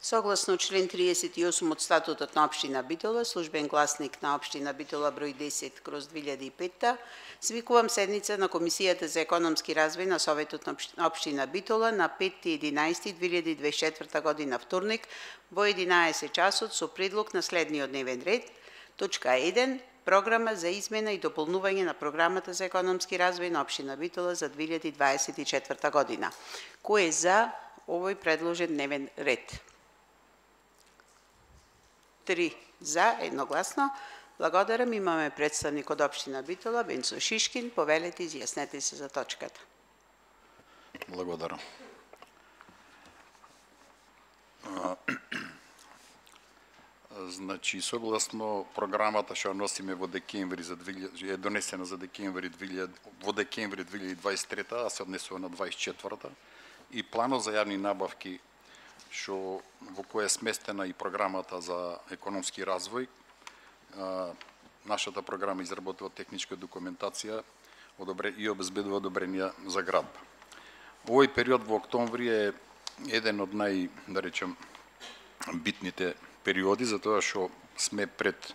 Согласно член 38 од статутот на општина Битола, службен гласник на општина Битола број 10/2005, свикувам седница на Комисијата за економски развој на Советот на општина Битола на 5.11.2024 година вторник во 11 часот со предлог на следниот дневен ред. Точка 1. Програма за измена и дополнување на програмата за економски развој на општина Битола за 2024 година. Кој е за овој предложен дневен ред? 3 за, едногласно. Благодарам. Имаме представник од општина Битола, Венцо Шишкин. Повелете, изјаснете се за точката. Благодарам. Значи, согласно програмата што носиме во декември е донесена за декември 2023, а се однесува на 24-та, и планот за јавни набавки што во која е сместена и програмата за економски развој. Нашата програма изработува техничка документација и обезбедува одобренија за градба. Овој период во октомври е еден од битните периоди, затоа што сме пред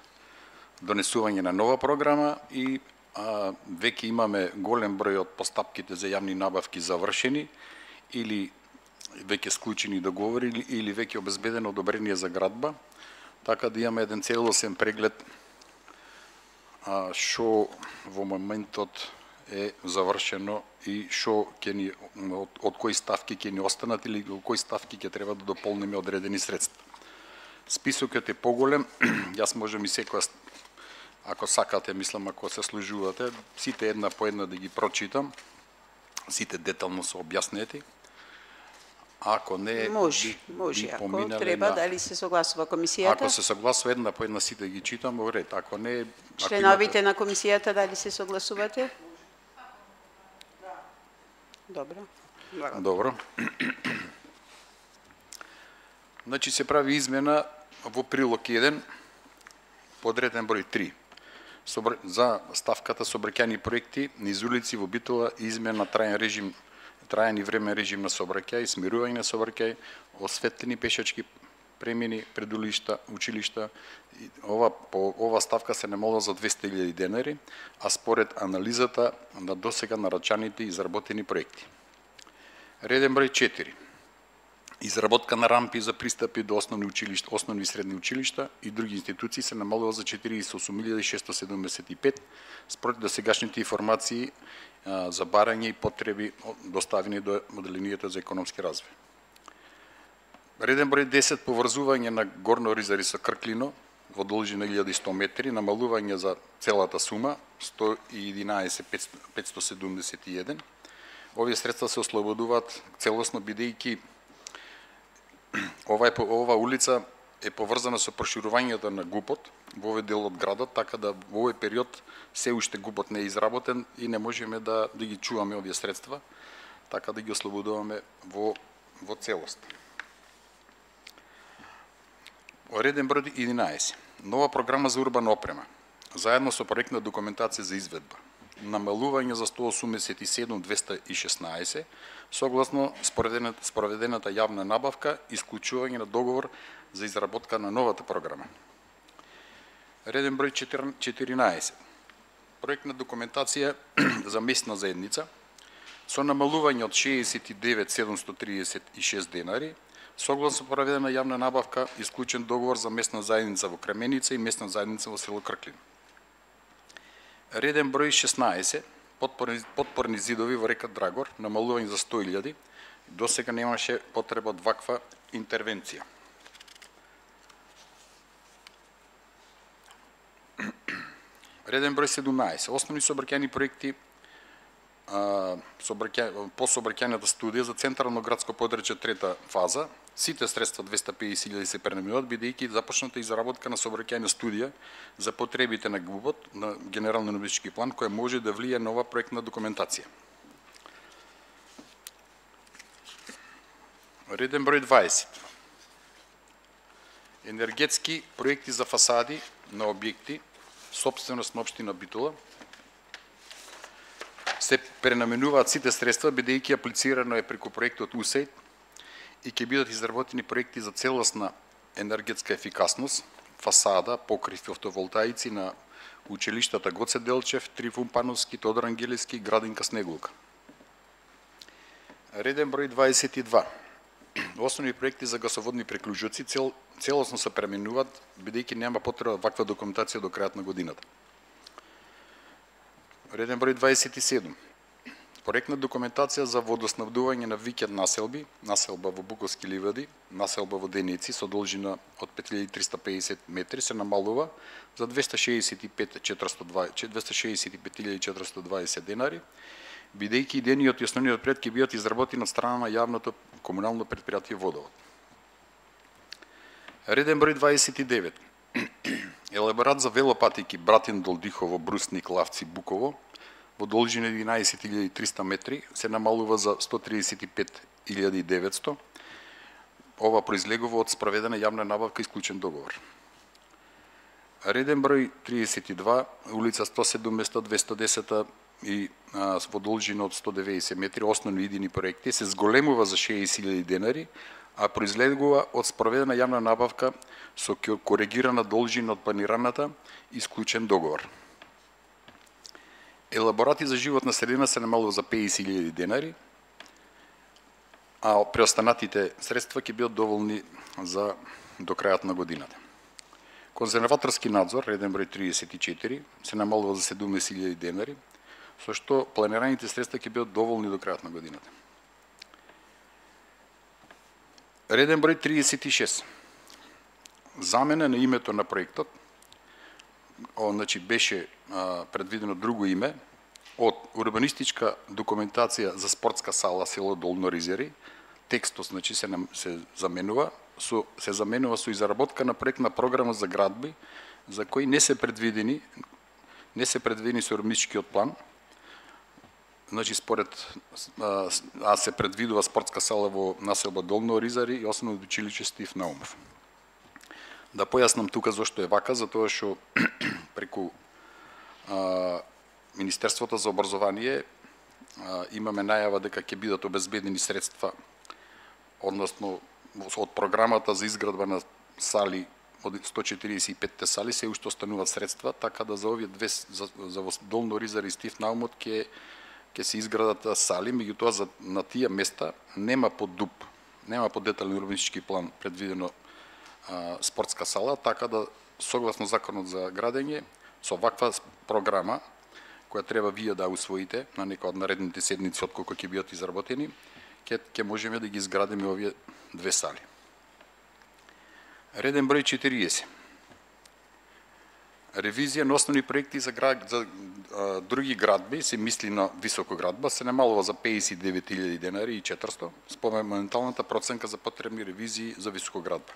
донесување на нова програма и веќе имаме голем број од постапките за јавни набавки завршени или веќе склучени договори или веќе обезбедено одобрение за градба, така да имаме еден целосен преглед што во моментот е завршено и што од кои ставки ќе ни останат или од кои ставки ќе треба да дополниме одредени средства. Списокот е поголем, јас можам и секоја, ако сакате, мислам, ако се служувате, сите една по една да ги прочитам, сите детално се објаснети. Ако не, може, ако треба, дали се согласува комисијата? Ако се согласува една по една сите ги читам, во ред. Ако не, членовите на комисијата дали се согласувате? Добро. Добро. Значи се прави измена во прилог 1, подреден број 3. За ставката сообраќајни проекти низ улици во Битола и измена траен и времен режим на сообраќај, смирување на сообраќај, осветлени пешачки премини, предулишта, училишта. Ова ставка се намалува за 200.000 денари, а според анализата на досега нарачаните и изработени проекти. Реден број 4. Изработка на рампи за пристапи до основни и средни училишта и други институции се намалува за 48.675 според досегашните информации за барање и потреби доставени до одделението за економски развој. Реден број 10. Поврзување на Горно Ризари со Крклино во должина 1100 метри, намалување за целата сума 111.571. Овие средства се ослободуваат целосно бидејќи ова улица е поврзана со проширувањето на ГУПот во овој дел од градот, така да во овој период се уште ГУПот не е изработен и не можеме да ги чуваме овие средства, така да ги ослободуваме во целост. Реден број 11. Нова програма за урбана опрема, заедно со проектна документација за изведба. Намалување за 187.216, согласно спроведената јавна набавка, исклучување на договор за изработка на новата програма. Реден број 14. Проектна документација за местна заедница со намалување од 69.736 денари, согласно проведена јавна набавка, исклучен договор за местна заедница во Кременица и местна заедница во село Крклин. Реден број 16. Подпорни зидови во река Драгор, намалување за 100.000. Досега немаше потреба од ваква интервенција. Реден број 17. Основни сообраќајни проекти по сообраќајната студија за централно градско подрачје трета фаза. Сите средства 250.000 се пренаминуваат, бидејќи започната изработка на сообраќајна студија за потребите на ГУПот, на генерален урбанистички план, која може да влие нова проектна документација. Реден број 20. Енергетски проекти за фасади на објекти, собственост на општина Битола, се пренаменуваат сите средства, бидејќи аплицирано е преку проектот УСЕЙ и ќе бидат изработени проекти за целосна енергетска ефикасност, фасада, покрив фотоволтаици на училиштата Гоце Делчев, Трифун Пановски, Тодор Ангелевски, Градинка Снеголука. Реден број 22. Основни проекти за гасоводни приклучоци целосно се пременуваат, бидејќи нема потреба ваква документација до крајот на годината. Реден број 27. Проектна документација за водоснабдување на викенд населби, населба во Буковски ливади, населба во Денеци со должина од 5350 метри се намалува за 265.420 денари, бидејќи идејниот и основниот проект ќе бидат изработени од страна на јавното комунално претпријатие Водовод. Реден број 29. Елаборат за велопатики Братин Долдихово, Брусник, Лавци, Буково во должина 11.300 метри се намалува за 135.900. Ова произлегува од спроведена јавна набавка и склучен договор. Реден број 32, улица 107 место 210 и во должина од 190 метри, основни идейни проекти, се зголемува за 60.000 денари, а произлегува од спроведена јавна набавка со коригирана должина од планираната и склучен договор. Елаборати за животна средина се намалува за 50.000 денари, а преостанатите средства ќе бидат доволни за до крајот на годината. Конзерваторски надзор, реден број 34, се намалува за 17.000 денари, со што планираните средства ќе бидат доволни до крајот на годината. Реден број 36. Замена на името на проектот, значи беше предвидено друго име, од урбанистичка документација за спортска сала село Долно Ризери, текстот значи се заменува со изработка на проектна програма за градби за кои не се предвидени со урбанистичкиот план. Значи според се предвидува спортска сала во населба Долно Ризари и основно училиште Стив Наумов. Да појаснам тука зошто е вака, затоа што преку Министерството за образование имаме најава дека ќе бидат обезбедени средства, односно од програмата за изградба на сали, од 145 сали се уште остануваат средства, така да за овие две за Долно Ризари и Стив Наумов ќе се изградат сали, меѓутоа на тие места нема по ДУП, нема по детален урбанистички план предвидено спортска сала, така да согласно законот за градење со ваква програма која треба вие да усвоите на некоја од наредните седмици отколку ќе бидат изработени, ќе можеме да ги изградиме овие две сали. Реден број 40. Ревизија на основни проекти за други градби, се мисли на високоградба, се намалува за 59.000 денари и 400, според моменталната проценка за потребни ревизии за високоградба.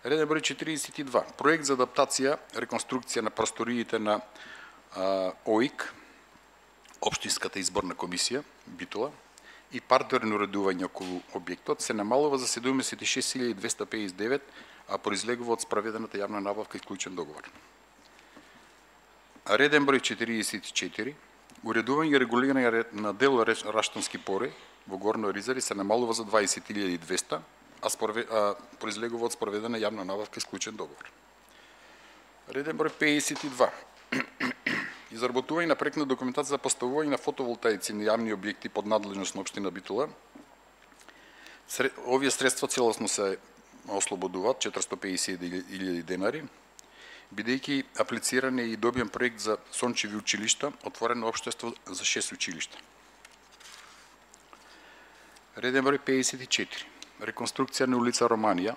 Реден број 42. Проект за адаптација, реконструкција на просториите на ОИК, Општинската изборна комисија, Битола, и партерно уредување околу објектот се намалува за 76.259, а произлегува од спроведената јавна набавка и склучен договор. Реден број 44. Уредување и регулирање на дел Раштански пори во Горно Ризари се намалува за 20.200, а произлегува од спроведена јавна набавка и склучен договор. Реден број 52. Изработување на проектна документација за поставување на фотоволтаици на јавни објекти под надлежност на општина Битола. Овие средства целосно се ослободуваат 450.000 денари, бидејќи аплициран е и добиен проект за сончеви училишта, отворено општество за 6 училишта. Реден број 54. Реконструкција на улица Романија,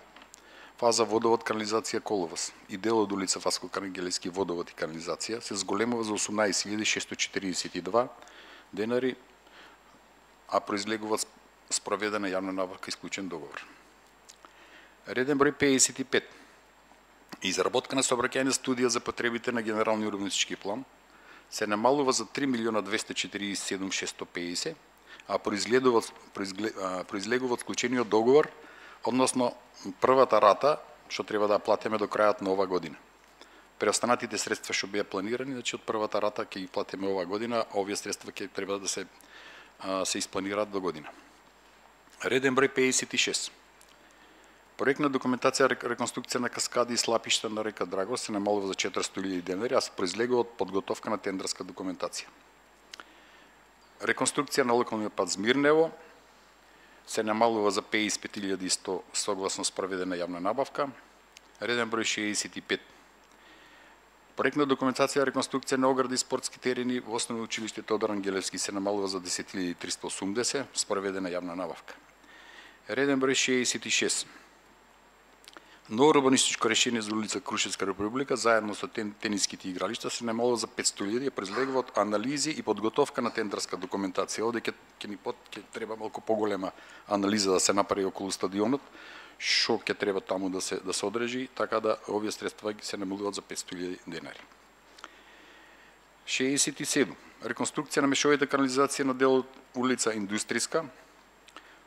фаза водовод канализација Коловас и дел од улица Васко Карангелевски водовод и канализација се зголемува за 18.642 денари, а произлегува спроведена јавна набавка и склучен договор. Реден број 55. Изработка на сообраќајна студија за потребите на генерални урбанистички план се намалува за 3.247.650, а произлегува од склучениот договор, односно првата рата што треба да платиме до крајот на ова година. Преостанатите средства што беа планирани, значи од првата рата ќе ги платиме ова година, а овие средства ќе треба да се испланираат до година. Реден број 56. Проектна документација реконструкција на каскади и слапишта на река Драгош се намалува за 400.000 денари, а се произлегува од подготовка на тендерска документација. Реконструкција на локалниот пат Змирнево се намалува за 55.100 согласно спроведена јавна набавка. Реден број 65. Проектна документација реконструкција на огради и спортски терени во Основно училиште Тодор Ангелевски се намалува за 10.380 спроведена јавна набавка. Реден број 66. Ново урбанистичко решение за улица Крушевска република заедно со тениските игралишта се намалува за 500.000 и произлегува од анализи и подготовка на тендерска документација. Овде ќе треба малку поголема анализа да се направи околу стадионот, што ќе треба таму да се одржи, така да овие средства се намалуваат за 500.000 денари. 67. Реконструкција на мешовите канализација на делот улица Индустријска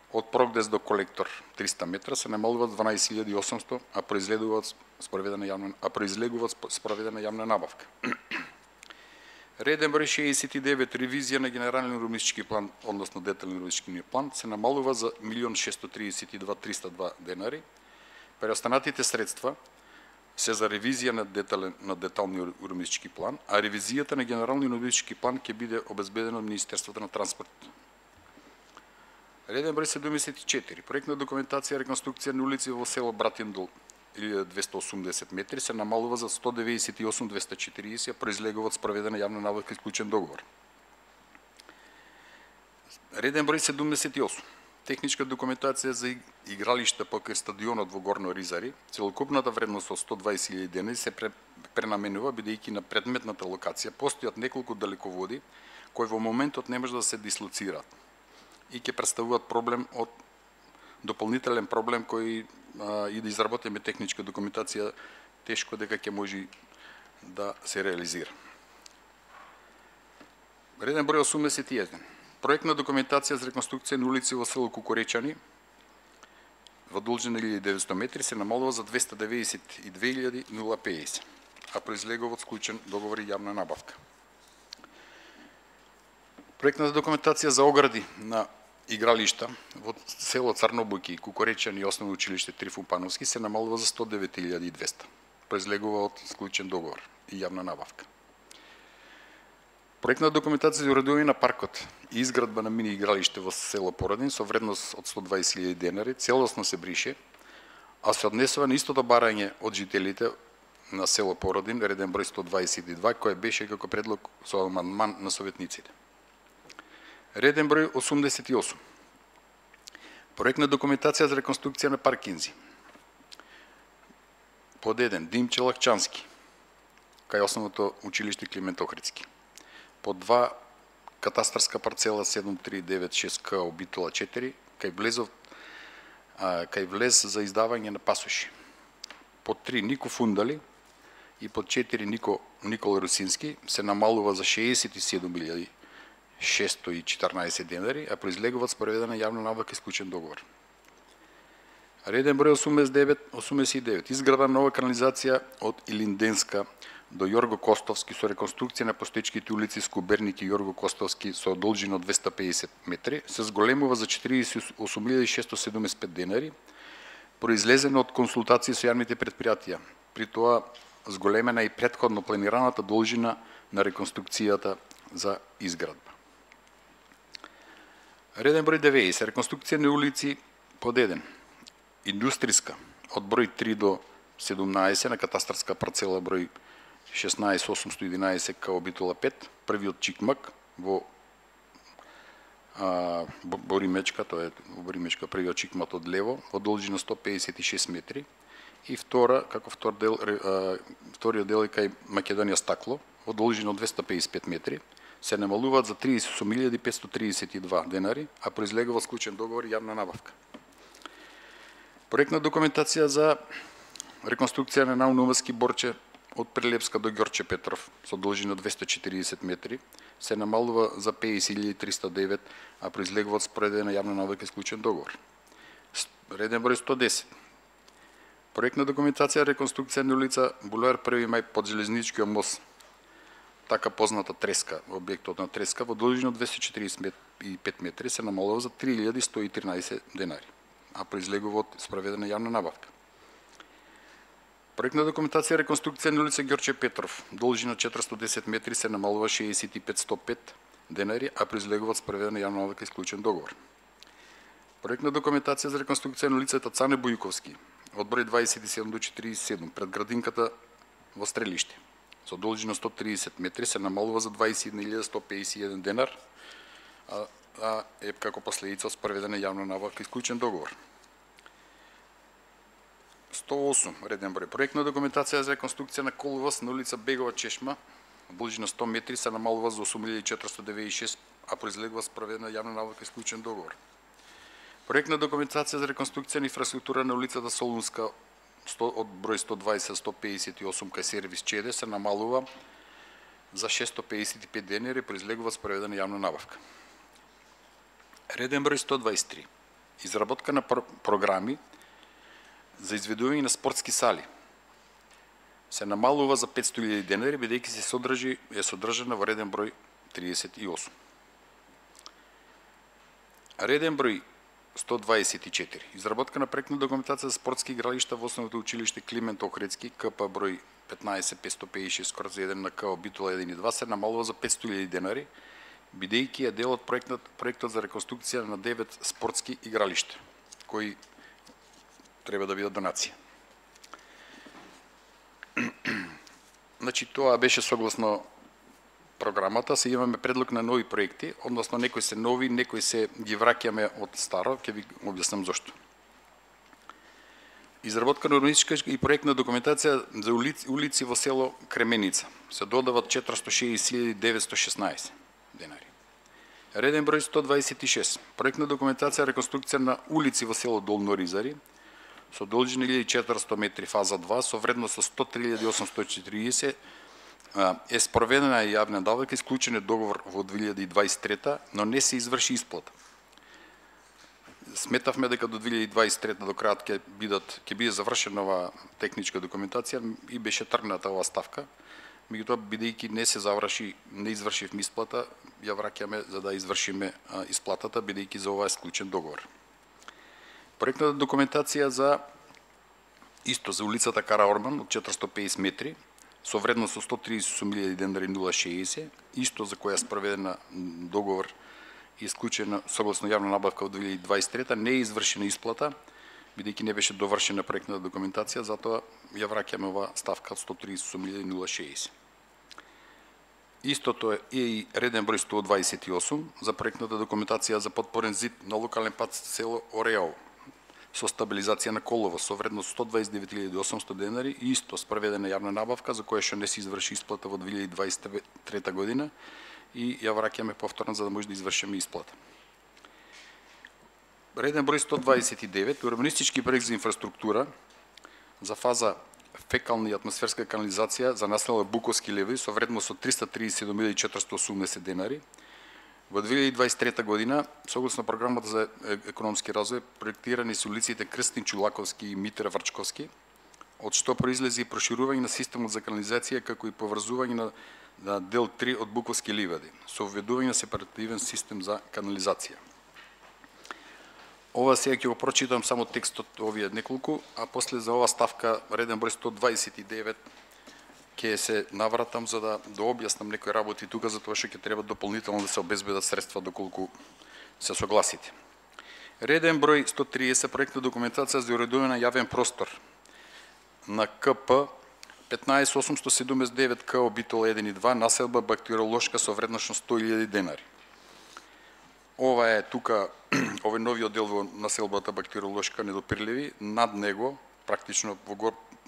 од Прогдес до колектор 300 метра се намалуваат 12.800, а произлегуваат спроведена јавна набавка. Реден број 69. Ревизија на генерален урбанистички план, односно детален урбанистички план, се намалува за 1.632.302 денари. Преостанатите средства се за ревизија на деталниот урбанистички план, а ревизијата на генералниот урбанистички план ќе биде обезбедена од Министерството на транспорт. Реден број 74. Проектна документација реконструкција на улици во село Братиндол 1280 метри се намалува за 198.240, произлегува од спроведена јавна набавка и склучен договор. Реден број 78. Техничка документација за игралишта покрај стадионот во Горно Ризари, целокупната вредност од 120.000 денари се пренаменува бидејќи на предметната локација постојат неколку далеководи кои во моментот не може да се дислоцираат и ќе представуваат проблем од дополнителен проблем кој и да изработиме техничка документација тешко дека ќе може да се реализира. Реден број 81. Проектна документација за реконструкција на улици во село Кукуречани во должина 1900 метри се намалува за 292.050, а произлегува од склучен договор и јавна набавка. Проектната документација за огради на игралишта во село Црнобујки и Кукуречани и Основно училиште Трифун Пановски се намалува за 109.200. Произлегува од склучен договор и јавна набавка. Проектна документација за уредување на паркот и изградба на мини игралиште во село Породин со вредност од 120.000 денари целосно се брише, а се однесува на истото барање од жителите на село Породин, реден број 122, кој беше како предлог со амандман на советниците. Реден број 88. Проектна документација за реконструкција на паркинзи. Под 1. Димче Лакчански, кај Основното училиште Климент Охридски. Под 2. Катастарска парцела 7396К Обитола 4, кај влез за издавање на пасоши. Под 3. Нико Фундали и под 4. Никола Русински се намалува за 67.614 денари, а произлегуваат спроведена јавна набавка и склучен договор. Реден број 89. Изградба нова канализација од Илинденска до Јорго Костовски со реконструкција на постоечките улици Скуберник и Јорго Костовски со должина од 250 метри се зголемува за 48.675 денари, произлезена од консултации со јавните предпријатија. При тоа зголемена и претходно планираната должина на реконструкцијата за изградба. Реден број 90. Реконструкција на улици под 1. Индустријска од број 3 до 17 на катастарска парцела број 16811 К Обитола 5, првиот Чикмак во Боримечка, тоа е во Боримечка првиот Чикмак од лево во должина 156 метри и вториот дел е кај Македонија Стакло во должина од 255 метри се намалуваат за 38.532 денари, а произлегува склучен договор и јавна набавка. Проектна документација за реконструкција на Наунумски Борче од Прелепска до Ѓорче Петров со должина 240 метри се намалува за 50.309, а произлегува од спроведена јавна набавка и склучен договор. Реден број 110. Проектна документација реконструкција на улица Булевар 1 мај под железничкиот мост, така позната Треска, објектот на Треска во должина 240 25 метри се намалува за 3113 денари, а произлегува од спроведена јавна набавка. Проектна документација реконструкција на улица Ѓорче Петров, должина 410 метри се намалува 65.105 денари, а произлегува од спроведена јавна набавка и склучен договор. Проектна документација за реконструкција на улицата Цане Бојковски, од број 27 до 47 пред градинката во Стрелиште, со должина 130 метри се намалува за 21.151 денар, а е како последица од спроведена јавна набавка и склучен договор. 108 реден број. Проектна документација за реконструкција на коловоз на улица Бегова Чешма, должина 100 метри се намалува за 8.496, а произлегува спроведена јавна набавка и склучен договор. Проектна документација за реконструкција на инфраструктура на улицата Солунска од број 120-158 кај сервис Чеде се намалува за 655 денари, произлегува спроведена јавна набавка. Реден број 123. Изработка на програми за изведување на спортски сали се намалува за 500.000 денари, бидејќи е содржана во реден број 38. Реден број 124. Изработка на проектна документација за спортски игралишта во основното училиште Климент Охридски, КП број 15556/1 на КО Битола 1 и 2 се намалува за 500.000 денари, бидејќи е дел од проектот за реконструкција на 9 спортски игралишта, кои треба да бидат донација. Значи, тоа беше согласно програмата. Се имаме предлог на нови проекти, односно некои се нови, некои се ги враќаме од старо, ќе ви објаснам зошто. Изработка на урбанистичка и проектна документација за улици во село Кременица. Се додават 460.916 денари. Реден број 126. Проектна документација реконструкција на улици во село Долно Ризари со должина 1400 метри фаза 2 со вредност со 103.840 е спроведена јавна набавка и склучен е договор во 2023, но не се изврши исплата. Сметавме дека до 2023 до крајот ќе биде завршена ова техничка документација и беше тргната оваа ставка. Меѓутоа, бидејќи не се заврши, не извршивме исплата, ја враќаме за да извршиме исплатата, бидејќи за ова е склучен договор. Проектната документација за улицата Кара Орман од 450 метри со вредност со 138.000 денари 060, исто за која е спроведена договор и исклучена согласно јавна набавка од 2023, не е извршена исплата, бидејќи не беше довршена проектната документација, затоа ја враќаме ова ставка од 138.060. Истото е и реден број 128 за проектната документација за подпорен зид на локален пат село Ореово со стабилизација на коловоз со вредност 129.800 денари и исто спроведена јавна набавка за која што не се изврши исплата во 2023 година и ја враќаме повторно за да може да извршиме исплата. Реден број 129. Урбанистички проект за инфраструктура за фаза фекална и атмосферска канализација за населба Буковски леви со вредност од 337.480 денари. Во 2023 година, согласно програмата за економски развој, проектирани се улиците Крстин Чулаковски и Митер Врчковски, од што произлези и проширување на системот за канализација, како и поврзување на дел 3 од Буковски ливади, со введување на сепаративен систем за канализација. Ова сега ќе го прочитам само текстот овие неколку, а после за ова ставка реден број 129 ќе се навратам за да објаснам некои работи тука, затоа што ќе треба дополнително да се обезбедат средства доколку се согласите. Реден број 130 проектна документација за уредување на јавен простор на КП 15879 КО Битола 1 и 2, населба бактериолошка со вредност 100.000 денари. Ова е тука, овој новиот дел во населбата бактериолошка недопирливи, над него, практично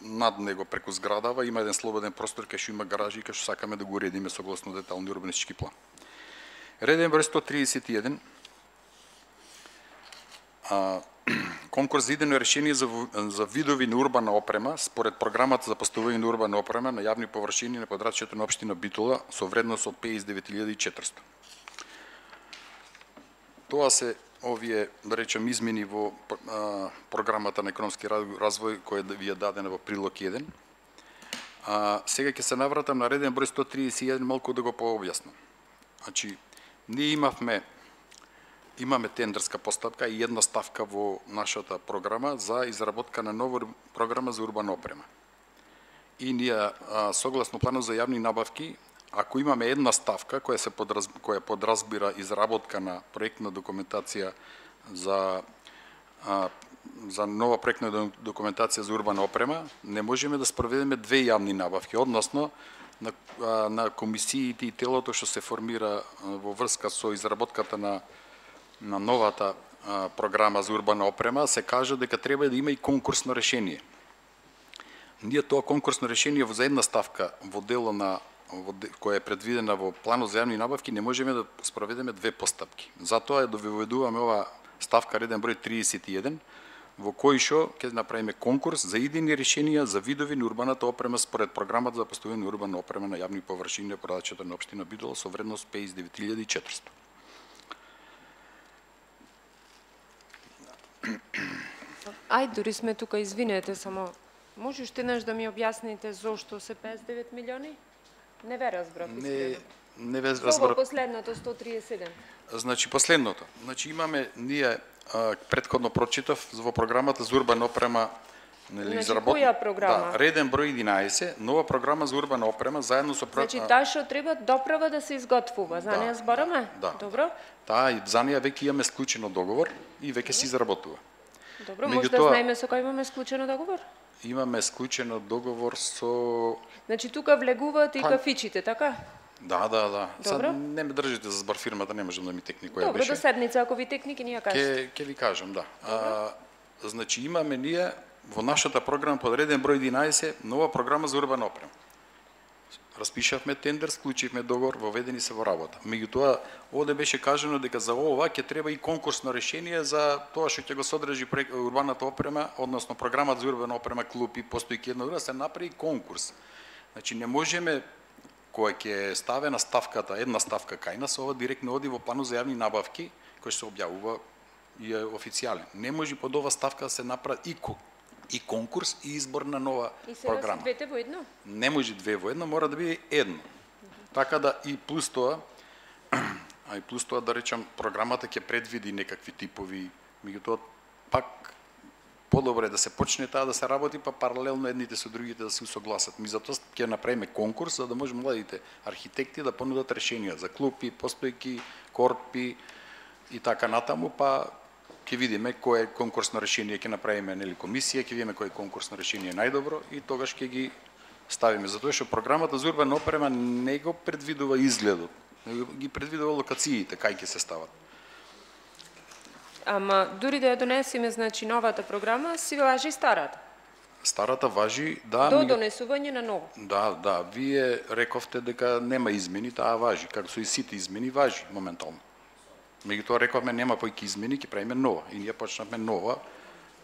над него преку зградава има еден слободен простор кај што има гаражи и кај што сакаме да го уредиме согласно детални урбанистички план. Реден број 131. Конкурс за идено решение за видови на урбана опрема според програмата за поставување на урбана опрема на јавни површини на подрачјето на општина Битола со вредност од 59.400. Тоа се овие, да речем, измени во програмата на економски развој која ви е дадена во прилог 1. Сега ќе се навратам на реден број 131 малку да го пообјаснам. Значи, ние имавме имаме тендерска постапка и една ставка во нашата програма за изработка на нова програма за урбана опрема. И ние, согласно планот за јавни набавки, ако имаме една ставка која подразбира изработка на проектна документација за нова проектна документација за урбана опрема, не можеме да спроведеме две јавни набавки, односно на комисиите и телото што се формира во врска со изработката на новата програма за урбана опрема, се кажа дека треба да има и конкурсно решение. Ние тоа конкурсно решение за една ставка во дело која е предвидена во планот за јавни набавки не можеме да спроведеме две постапки. Затоа ја доведуваме ова ставка реден број 31, во кој што ќе направиме конкурс за идејни решенија за видови на урбаната опрема според програмата за постојана урбана опрема на јавни површини на продажата на општина Битола со вредност 59.400. Ајде, дури сме тука, извинете, само може уште еднаш да ми објасните зошто се 59 милиони? Не ве разбрав. Не ве Ова разбрав. последното 137. Значи последното. Значи имаме ние претходно прочитав во програмата за урбана опрема, нели, која програма? Да, реден број 11, нова програма за урбана опрема заедно со Значи таа што треба доправа да се изготвува, за неа збораме? Да. Добро? Таа и за неа веќе имаме склучено договор и веќе се изработува. Добро, може да знаеме со кој имаме склучено договор? Имаме склучено договор со... Значи тука влегуваат и кафичите, така? Да. Добро. Сад не ме држите за збор фирмата, не можам да ми текни која Добро, беше. до седница, ако ви текни, ќе ни ја кажете. Ќе ви кажам, да. Значи имаме ние во нашата програма под реден број 11 нова програма за урбана опрема. Распишавме тендер, склучивме договор, воведени се во работа. Меѓутоа, овде беше кажано дека за ова ќе треба и конкурсно решение за тоа што ќе го содржи урбаната опрема, односно програмата за урбана опрема, клупи, постојки една друга, се направи конкурс. Значи не можеме која ќе ставена ставката, една ставка кај нас, ова директно оди во планот за јавни набавки, кој се објавува и е официјален. Не може под ова ставка да се направи и конкурс и избор на нова програма. И двете во едно? Не може две во едно, мора да биде едно. Така да и плюс тоа да речам, програмата ќе предвиди некакви типови, меѓутоа пак подобро е да се почне таа да се работи, па паралелно едните со другите да се усогласат. Ми затоа ќе направиме конкурс за да може младите архитекти да понудат решенија за клупи, постојки, корпи и така натаму, па ќе видиме кое конкурсно решение ќе направиме, нели, комисија, ќе видиме кое конкурсно решение е најдобро и тогаш ќе ги ставиме. Затоа што програмата за урбана опрема не го предвидува изгледот, ги предвидува локациите кај ќе се стават. Ама дури да ја донесеме, значи новата програма, си важи старата. Старата важи, да. До донесување на ново. Да, вие рековте дека нема измени, таа важи, како со и сите измени важи моментално. Меѓутоа рековме нема појки измени, ќе правиме нова и ние почнавме нова.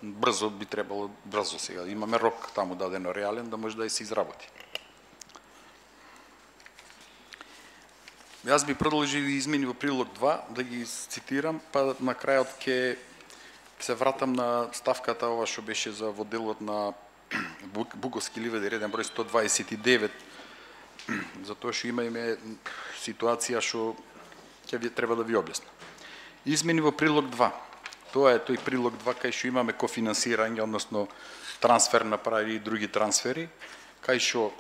Брзо би требало, брзо сега. Имаме рок таму дадено реален да може да се изработи. Јас би продолжил измени во прилог 2, да ги цитирам, па на крајот ќе се вратам на ставката ова што беше за во делот на Буковски ливади реден број 129, затоа што имаме ситуација што ќе ви треба да ви објаснам. Измени во прилог 2. Тоа е тој прилог 2 кај што имаме кофинансирање, односно трансфер на пари и други трансфери, кај што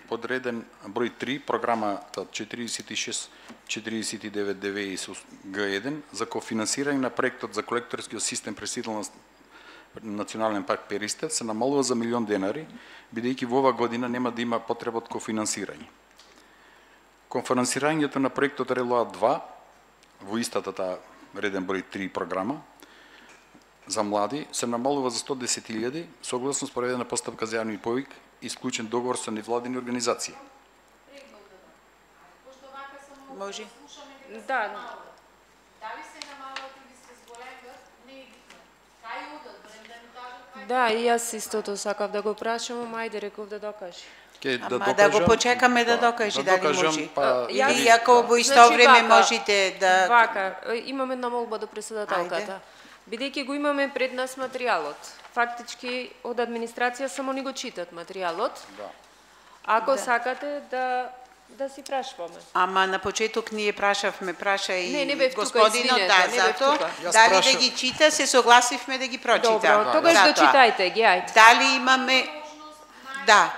подреден број 3, програмата 4649 Г1 за кофинансирање на проектот за колекторскиот систем пресител на Национален парк Перистев се намалува за $1.000.000, бидејќи во ова година нема да има потреба од кофинансирање. Кофинансирањето на проектот Релоа 2 во истата таа реден број 3 програма за млади се намалува за 110.000 согласно спроведена постапка за јавни повик и склучен договор со невладини организации. Може. Да. Дали се намалат или се зголемат, не е битно. Кај одат, барем да ми кажат кај. Да, и јас истото сакав да го прашам, ама ајде реков да докажи. Ама да го почекаме да докаже дали може. Или ако во исто Значи, време вака, можете да... Вака, имам една молба до председателката. Бидејќи го имаме пред нас материјалот, фактички од администрација само ни го читат материјалот. Да. Ако сакате да да си прашуваме. Ама на почеток ние праша и не бев тука, господинот, извинете, да, не бев затоа, тука. дали Јас да ги чита, се согласивме да ги прочита. Добро, тогаш да Затоа. читајте ги, ајде. Дали имаме... Да.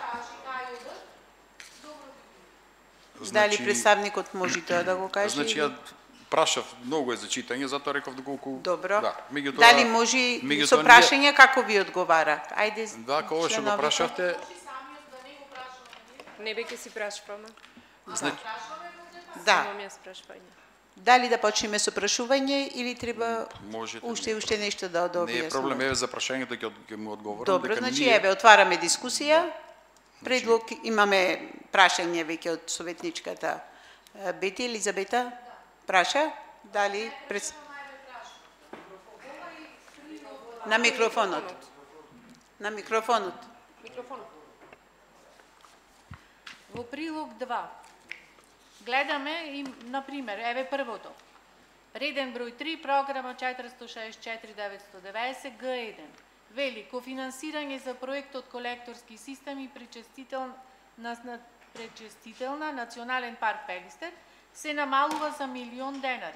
Дали представникот може тоа да го каже? Значи, ја прашав, многу е за читање, затоа реков доколку... Добро. Да, меѓутоа... Дали може со прашање како ви одговара? Ајде, Да, кога што го прашавте... Не бе ке си прашуваме. Значи, Да. Имам јас прашување. Дали да почнеме со прашување или треба можете... уште нешто да Не е проблем, еве за прашањето ќе му одговорам. Добро, значи еве отвараме дискусија. Предлог имаме прашање веќе од советничката Бети Елизабета. Праша, дали на микрофонот. На микрофонот. Во прилог 2 гледаме и, например, еве првото. Реден број 3, програма 464-990, Г1. Вели, кофинансирање за проектот колекторски системи пречестителна Национален парк Пелистер се намалува за $1.000.000.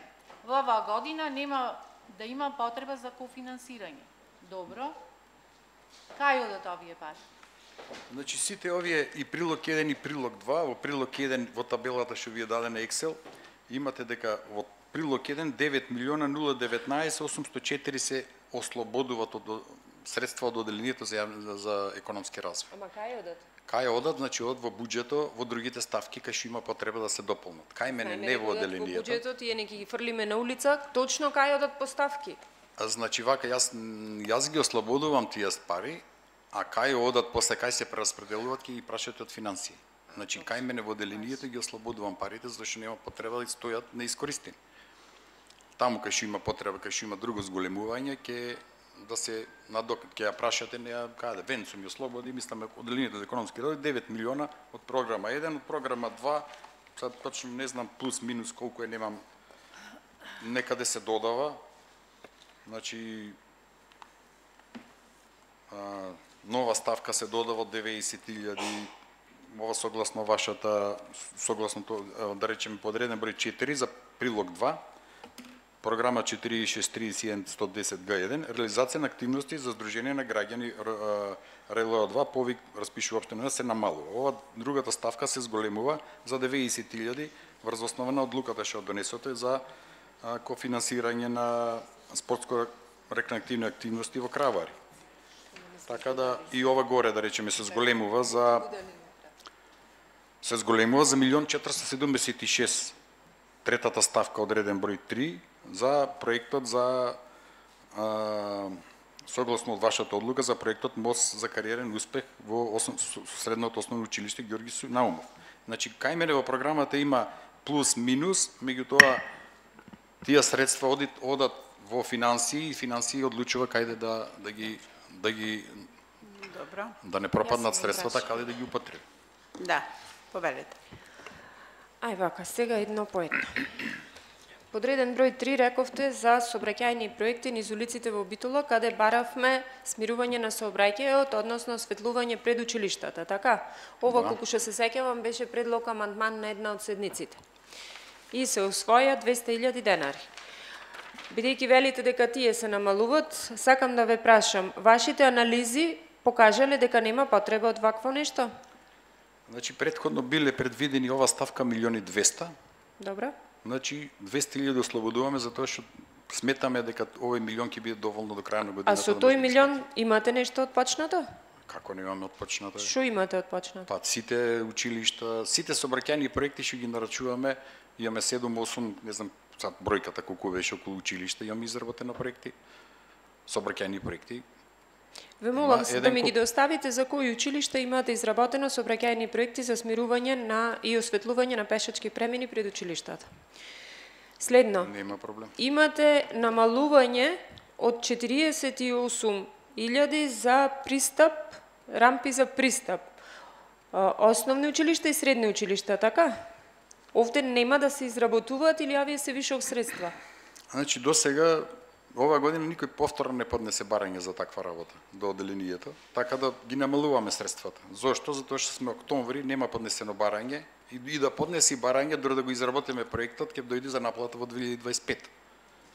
Во оваа година нема да има потреба за кофинансирање. Добро. Кај одат овие пари? Значи сите овие и прилог 1 и прилог 2, во прилог 1 во табелата што ви е дадена Excel, имате дека во прилог 1 9.019.804 се ослободуваат од средства од одделението за економски развој. Ама кај одат? Кај одат, значи од во буџетот, во другите ставки кај што има потреба да се дополнат. Кај мене не во одделението. Во буџетот и не ги фрлиме на улица, точно кај одат поставки. Значи вака јас ги ослободувам тие пари, а кај одат после кај се прераспределуваат ќе ги прашате од финансии. Значи кај мене во одделението ги ослободувам парите зашто нема потреба да стојат неискористени. Таму кај што има потреба, кај што има друго зголемување, ќе да се ќе ја прашате, не ја каде Венцо ми ослободи, мислам одделението за економски развој 9 милиона од програма 1, од програма 2, сад точно не знам плюс минус колку е, немам, некаде се додава. Значи нова ставка се додава од 90.000, ова согласно вашата, согласно да речеме подреден број 4 за прилог 2, програма 463110 Г1, реализација на активности за Сдружение на граѓани РЛО2, повик распишува општина се намалува. Ова другата ставка се зголемува за 90.000 врз основа на одлуката што донесоте за кофинансирање на спортско-рекреативни активности во Кравари. Така да и ова горе да речеме се зголемува за $1.476.000. Третата ставка од реден број 3 за проектот за согласно од вашата одлука за проектот Мост за кариерен успех во средното основно училиште Ѓорги Наумов. Значи кај мене во програмата има плюс минус, меѓутоа тие средства одат во финансии и финансии одлучува каде да ги Добро. да не пропаднат средствата, каде да ги употреби. Да, повелете. Ај вака, сега едно по едно. Подреден број 3 рековте за сообраќајни проекти низ улиците во Битола, каде баравме смирување на сообраќајот, односно осветлување пред училиштата, така? Ова, колку што се сеќавам, беше предлог амандман на една од седниците. И се усвоја 200.000 денари. Бидејќи велите дека тие се намалуваат, сакам да ве прашам, вашите анализи покажале дека нема потреба од вакво нешто? Значи претходно биле предвидени ова ставка 1.200.000. Добро. Значи 200.000 ослободуваме затоа што сметаме дека овој милион ќе биде доволно до крај на годината. А со тој милион имате нешто отпочнато? Како немаме отпочнато? Што имате отпочнато? Па сите училишта, сите сообраќајни проекти што ги нарачуваме, имаме 7-8, не знам сад бројката колку беше околу училишта, имаме изработени проекти, сообраќајни проекти. Ве молам да ми ги доставите за кои училишта имате изработено сообраќајни проекти за смирување на и осветлување на пешачки премини пред училиштата. Следно. Нема проблем. Имате намалување од 48.000 за пристап, рампи за пристап. Основни училишта и средни училишта, така? Овде нема да се изработуваат или овие се вишок средства? Значи до сега ова година никој повторно не поднесе барање за таква работа до одделението, така да ги намалуваме средствата. Зошто? Затоа што сме октомври, нема поднесено барање И да поднеси барање, дори да го изработиме проектот, ќе дојде за наплата во 2025.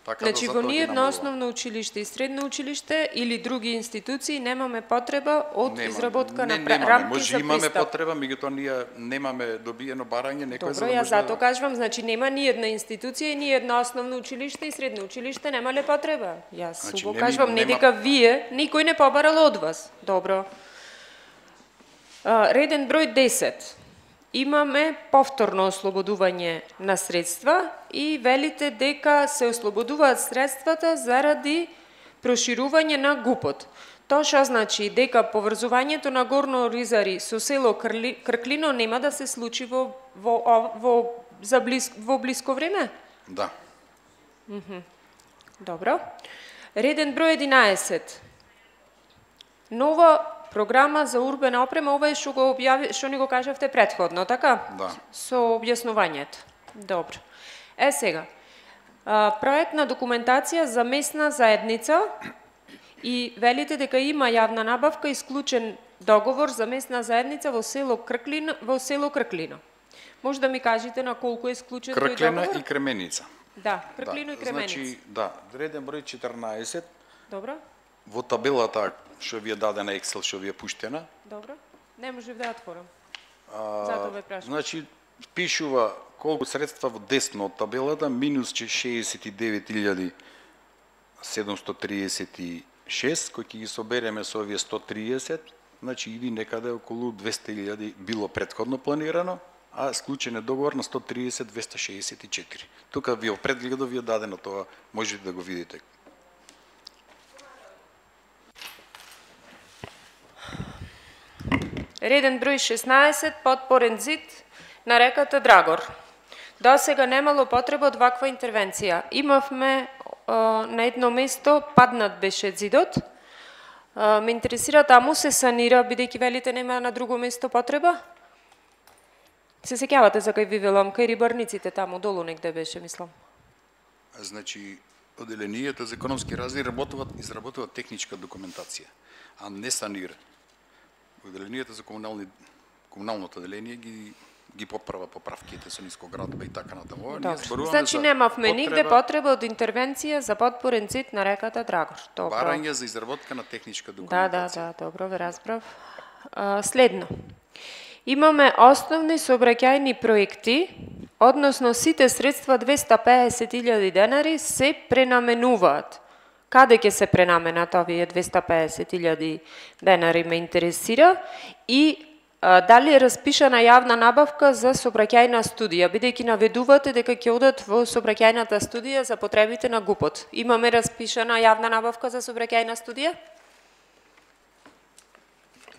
Така Значи, да во затоа ние ги на намалува. основно училиште и средно училиште или други институции немаме потреба од изработка на рамки може за имаме пристап. потреба, меѓутоа ние немаме добиено барање, некој Добро, за да јас може зато кажувам, значи нема ни една институција и ни едно основно училиште и средно училиште немале потреба. Јас Значи, го нема- кажувам, не нема- дека вие, никој не побарал од вас. Добро. Реден број 10. Имаме повторно ослободување на средства и велите дека се ослободуваат средствата заради проширување на ГУПот. Тоа што значи дека поврзувањето на Горно Оризари со село Крклино нема да се случи во блиско време? Да. Добро. Реден број 11. Нова програма за урбена опрема, ова е што го што ни го кажавте претходно, така? Да. Со објаснувањето. Добро. Сега, проектна документација за местна заедница и велите дека има јавна набавка и склучен договор за местна заедница во село Крклино. Може да ми кажете на колку е склучен тој Крклина договор? и Кременица. Да, Крклино и Кременица. Значи, да, реден број 14, Добро, во табелата што ви е дадена Excel, што ви е пуштена, добро. Не можев да ја отворам. Затоа ве прашам. значи, пишува колку средства во десно од табелата, минус 69.736, кој ќе ги собереме со овие 130, значи иди некаде околу 200.000 било претходно планирано, а склучен е договор на 130.264. Тука ви опрегледов ви е дадено тоа, можете да го видите. Реден број 16, подпорен зид на реката Драгор. До сега немало потреба од ваква интервенција. Имавме на едно место, паднат беше зидот. Ме интересира, таму се санира, бидејќи велите нема на друго место потреба? Се сеќавате за кај ви велам, кај рибарниците таму, долу негде беше, мислам. Значи, оделенијата за економски развој изработуваат техничка документација, а не санира. Оделенијата за комуналното оделение ги поправа поправките со нискоградба и така натаму. Значи немавме нигде потреба од интервенција за подпорен зид на реката Драгор. Добро. Барање за изработка на техничка документација. Да, добро, ве разбрав. Следно. Имаме основни сообраќајни проекти, односно сите средства 250.000 денари се пренаменуваат. Каде ќе се пренаменат овие 250.000 денари ме интересира и дали е распишана јавна набавка за сообраќајна студија, бидејќи наведувате дека ќе одат во сообраќајната студија за потребите на ГУПот. Имаме распишана јавна набавка за сообраќајна студија?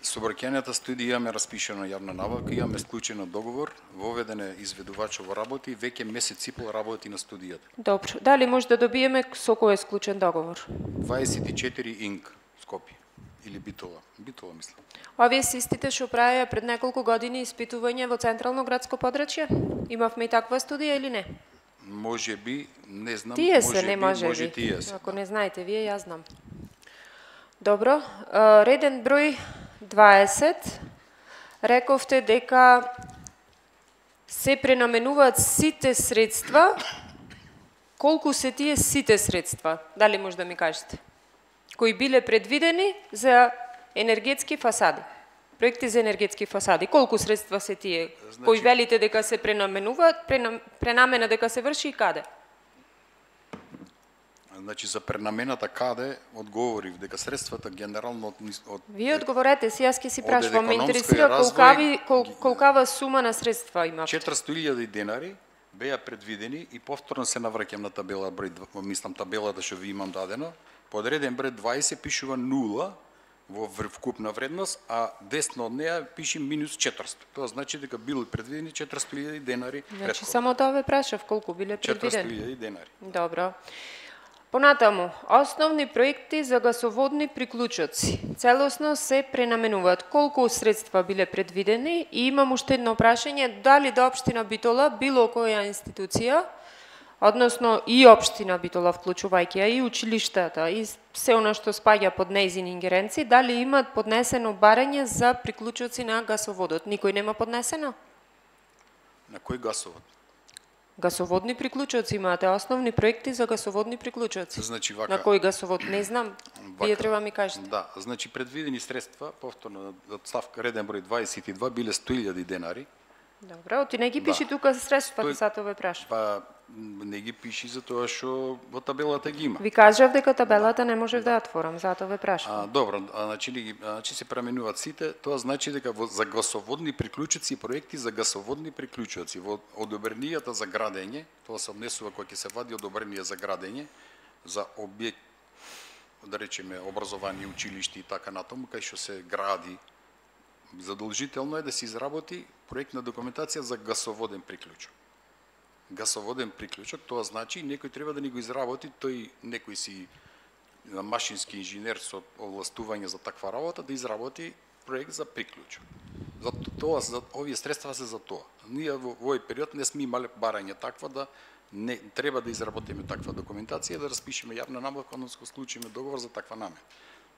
Сообраќајната студија имаме распишана јавна набавка, имаме склучен договор, воведен е изведувачот во работа и веќе месец и пол работи на студијата. Добро. Дали може да добиеме со кој е склучен договор? 24 Инк, Скопје. Или Битола. Битола, мислам. Овие се истите што правеа пред неколку години испитување во централно градско подрачје? Имавме и таква студија или не? Може би, не знам. Тие се, не може може би. тие се. Ако не знаете вие, јас знам. Добро. Реден број 20. Рековте дека се пренаменуваат сите средства. Колку се тие сите средства? Дали може да ми кажете? Кои биле предвидени за енергетски фасади. Проекти за енергетски фасади. Колку средства се тие? Значи, кои велите дека се пренаменуваат, пренамена дека се врши и каде? Значи, за пренамената каде, одговорив дека средствата генерално од Вие одговорете си, јас ќе си прашувам. Ме економској интересира развој, колкава сума на средства има. 400.000 денари беа предвидени и повторно се навраќам на табела број, мислам табелата што ви имам дадено, под реден број 20 пишува 0 во вкупна вредност, а десно од неа пише минус 400. Тоа значи дека били предвидени 400.000 денари Значи, претходно. само тоа ве прашав, колку биле предвидени. 400.000 денари. Добро. Понатаму, основни проекти за гасоводни приклучоци. Целосно се пренаменуваат. Колку средства биле предвидени? И имам уште едно прашање, дали до општина Битола, било која институција, односно и општина Битола, вклучувајќи ја и училиштата, и се она што спаѓа под нејзини ингеренци, дали имаат поднесено барање за приклучоци на гасоводот? Никој нема поднесено? На кој гасовод? Гасоводни приклучоци имате, основни проекти за гасоводни приклучоци. Значи вака. На кој гасовод? Не знам. Вие треба ми кажете. Да, значи предвидени средства, повторно од ставка реден број 22 биле 100.000 денари. Добро, оти не ги пиши тука средствата, затоа ве прашам. Па не ги пиши затоа што во табелата ги има. Ви кажав дека табелата не можев да ја отворам, затоа ве прашам. Добро, значи се пременуваат сите, тоа значи дека за гасоводни приклучоци и проекти за гасоводни приклучоци во одобренијата за градење, тоа се однесува кога ќе се вади одобрение за градење за објект, да речеме образование, училиште и така натаму, кај што се гради, задолжително е да се изработи проектна документација за гасоводен приклучок. Гасоводен приклучок, тоа значи некој треба да ни го изработи, тој некој си машински инженер со овластување за таква работа да изработи проект за приклучок. За овие средства се за тоа. Ние во овој период не сме имале барање таква да не треба да изработиме таква документација, да распишеме јавна набавка, односно склучиме договор за таква намена.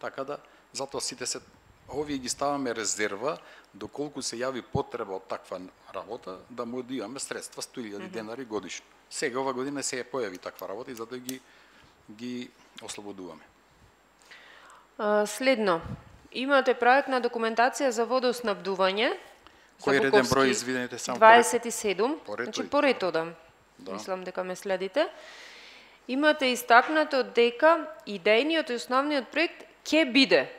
Така да затоа сите се овие ги ставаме резерва доколку се јави потреба од таква работа да му имаме средства 100.000 денари годишно. Сега ова година се појави таква работа и затоа ги ослободуваме. Следно, имате проектна документација за водоснабдување. Кој реден број извинете само 27, поред, значи поред одам. Да. Мислам дека ме следите. Имате истакнато дека идејниот и основниот проект ќе биде.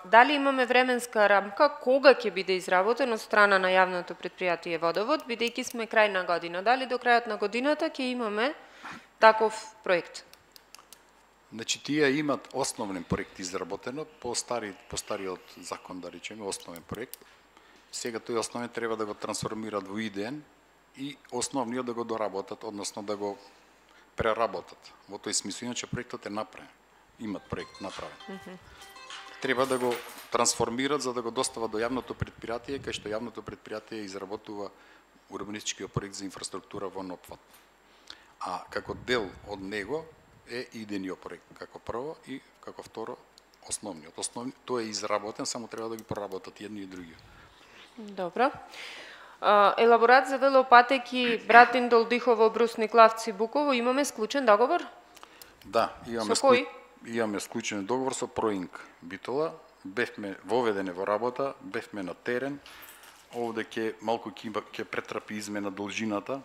Дали имаме временска рамка кога ќе биде изработен од страна на јавното претпријатие Водовод, бидејќи сме крај на година? Дали до крајот на годината ќе имаме таков проект? Значи тие имат основен проект изработено по стариот закон, да речеме, основен проект. Сега тој основен треба да го трансформираат во идеен и основниот да го доработат, односно да го преработат. Во тој смисла, иначе проектот е направен. Имат проект направен. Треба да го трансформираат за да го достават до јавното претпријатие, кај што јавното претпријатие изработува урбанистичкиот проект за инфраструктура во опфат. А како дел од него е идејниот проект, како прво и како второ основниот. Тој е изработен, само треба да ги проработат едни и други. Добро. Елаборат за велопатеки Братиндол, Дихово, Брусник, Лавци, Буково, имаме склучен договор? Да, имаме. Со кој? Имаме склучен договор со Проинк Битола, бевме воведене во работа, бевме на терен, овде ќе претрапи измена должината,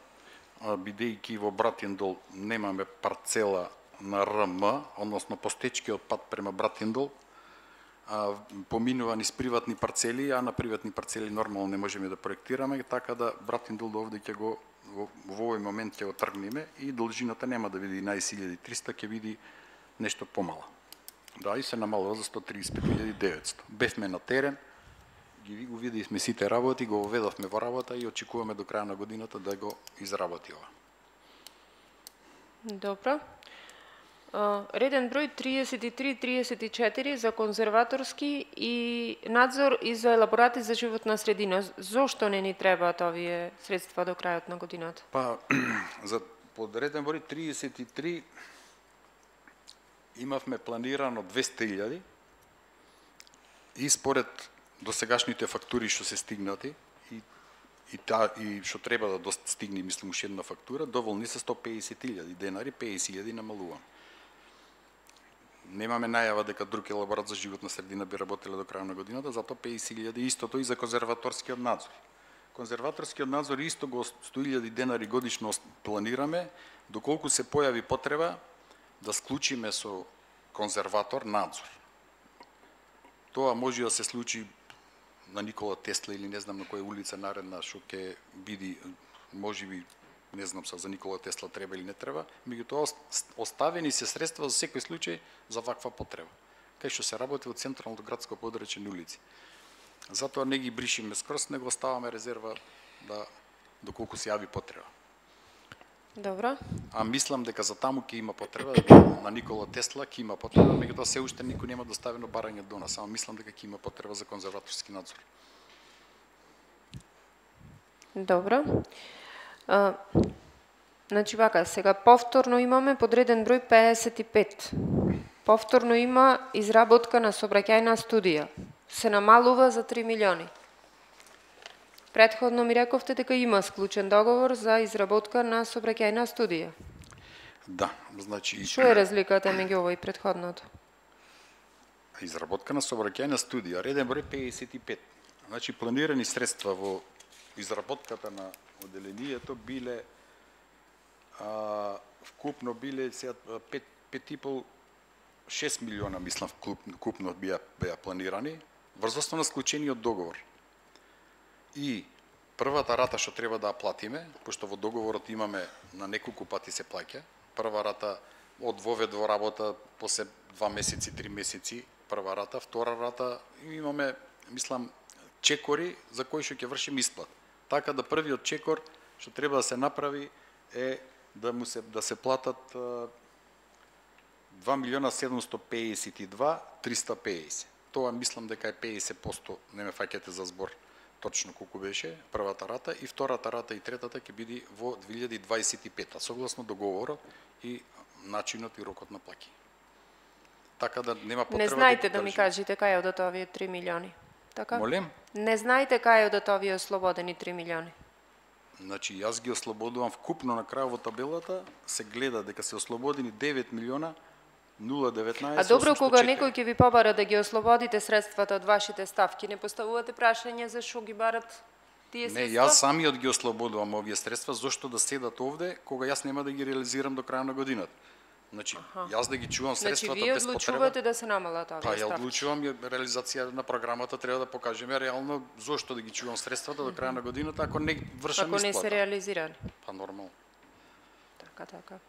бидејќи во Братиндол немаме парцела на РМ, односно постечкиот пат према Братиндол, поминува низ приватни парцели, а на приватни парцели нормално не можеме да проектираме, така да Братиндол овде ќе го во овој момент ќе го тргнеме и должината нема да биде 11.300, ќе биде нешто помала. Да, и се намалува за 135.900. Бевме на терен, го видивме сите работи, го воведовме во работа и очекуваме до крај на годината да го изработи ова. Добро. Реден број 33-34 за конзерваторски и надзор и за елаборати за животна средина. Зошто не ни требаат овие средства до крајот на годината? Па, за под реден број 33 имавме планирано 200.000 и според досегашните фактури што се стигнати и што треба да стигне, мислам, уште една фактура, доволни се 150.000 денари, 50.000 намалуваме. Немаме најава дека друг елаборат за животна средина би работеле до крај на годината, затоа 50.000 истото и за конзерваторскиот надзор. Конзерваторскиот надзор исто го 100.000 денари годишно планираме, доколку се појави потреба да склучиме со конзерватор надзор. Тоа може да се случи на Никола Тесла или не знам на која улица наредна што ќе биде, можеби, не знам за Никола Тесла треба или не треба, меѓутоа оставени се средства за секој случај за ваква потреба, кај што се работи во централното градско подрачје улици. Затоа не ги бришиме скрос, него оставаме резерва да доколку се јави потреба. Добро. А мислам дека за таму ќе има потреба, на Никола Тесла ќе има потреба, меѓутоа се уште никој нема доставено барање до нас, само мислам дека ќе има потреба за конзерваторски надзор. Добро. Значи вака, сега повторно имаме подреден број 55. Повторно има изработка на сообраќајна студија. Се намалува за 3 милиони. Претходно ми рековте дека има склучен договор за изработка на сообраќајна студија. Да, значи Што е разликата меѓу ова и претходното? изработка на сообраќајна студија, реден број 55. Значи планирани средства во изработката на одделението биле вкупно биле 5,5-6 милиона, мислам, вкупно беа планирани врз основа на склучениот договор. И првата рата што треба да ја платиме, пошто во договорот имаме на неколку пати се плаќа, прва рата од вовед во работа после 2 месеци, 3 месеци, прва рата, втора рата имаме, мислам, чекори за кои што ќе вршим исплат. Така да првиот чекор што треба да се направи е да се платат 2.752.350. Тоа мислам дека е 50%, не ме фаќате за збор точно колку беше првата рата, и втората рата и третата ќе биде во 2025, согласно договорот и начинот и рокот на плаќање. Така да нема потреба. Не знаете да ми кажете кај одат овие 3 милиони. Така? Молем? Не знаете кај одат овие ослободени 3 милиони. Значи, јас ги ослободувам вкупно на крај во табелата, се гледа дека се ослободени 9 милиона 019. А добро, кога некој ќе ви побара да ги ослободите средствата од вашите ставки, не поставувате прашање за што ги барат тие средства? Не, јас самиот ги ослободувам овие средства, зошто да седат овде, кога јас нема да ги реализирам до крај на годината. Значи, јас да ги чувам средствата без потреба. Значи, вие одлучувате да се намалат овие ставки? Па, ја одлучувам, реализација на програмата треба да покажеме реално зошто да ги чувам средствата до крај на годината, ако не вршам исплата. Ако не се реализирани? Па, нормално. Така.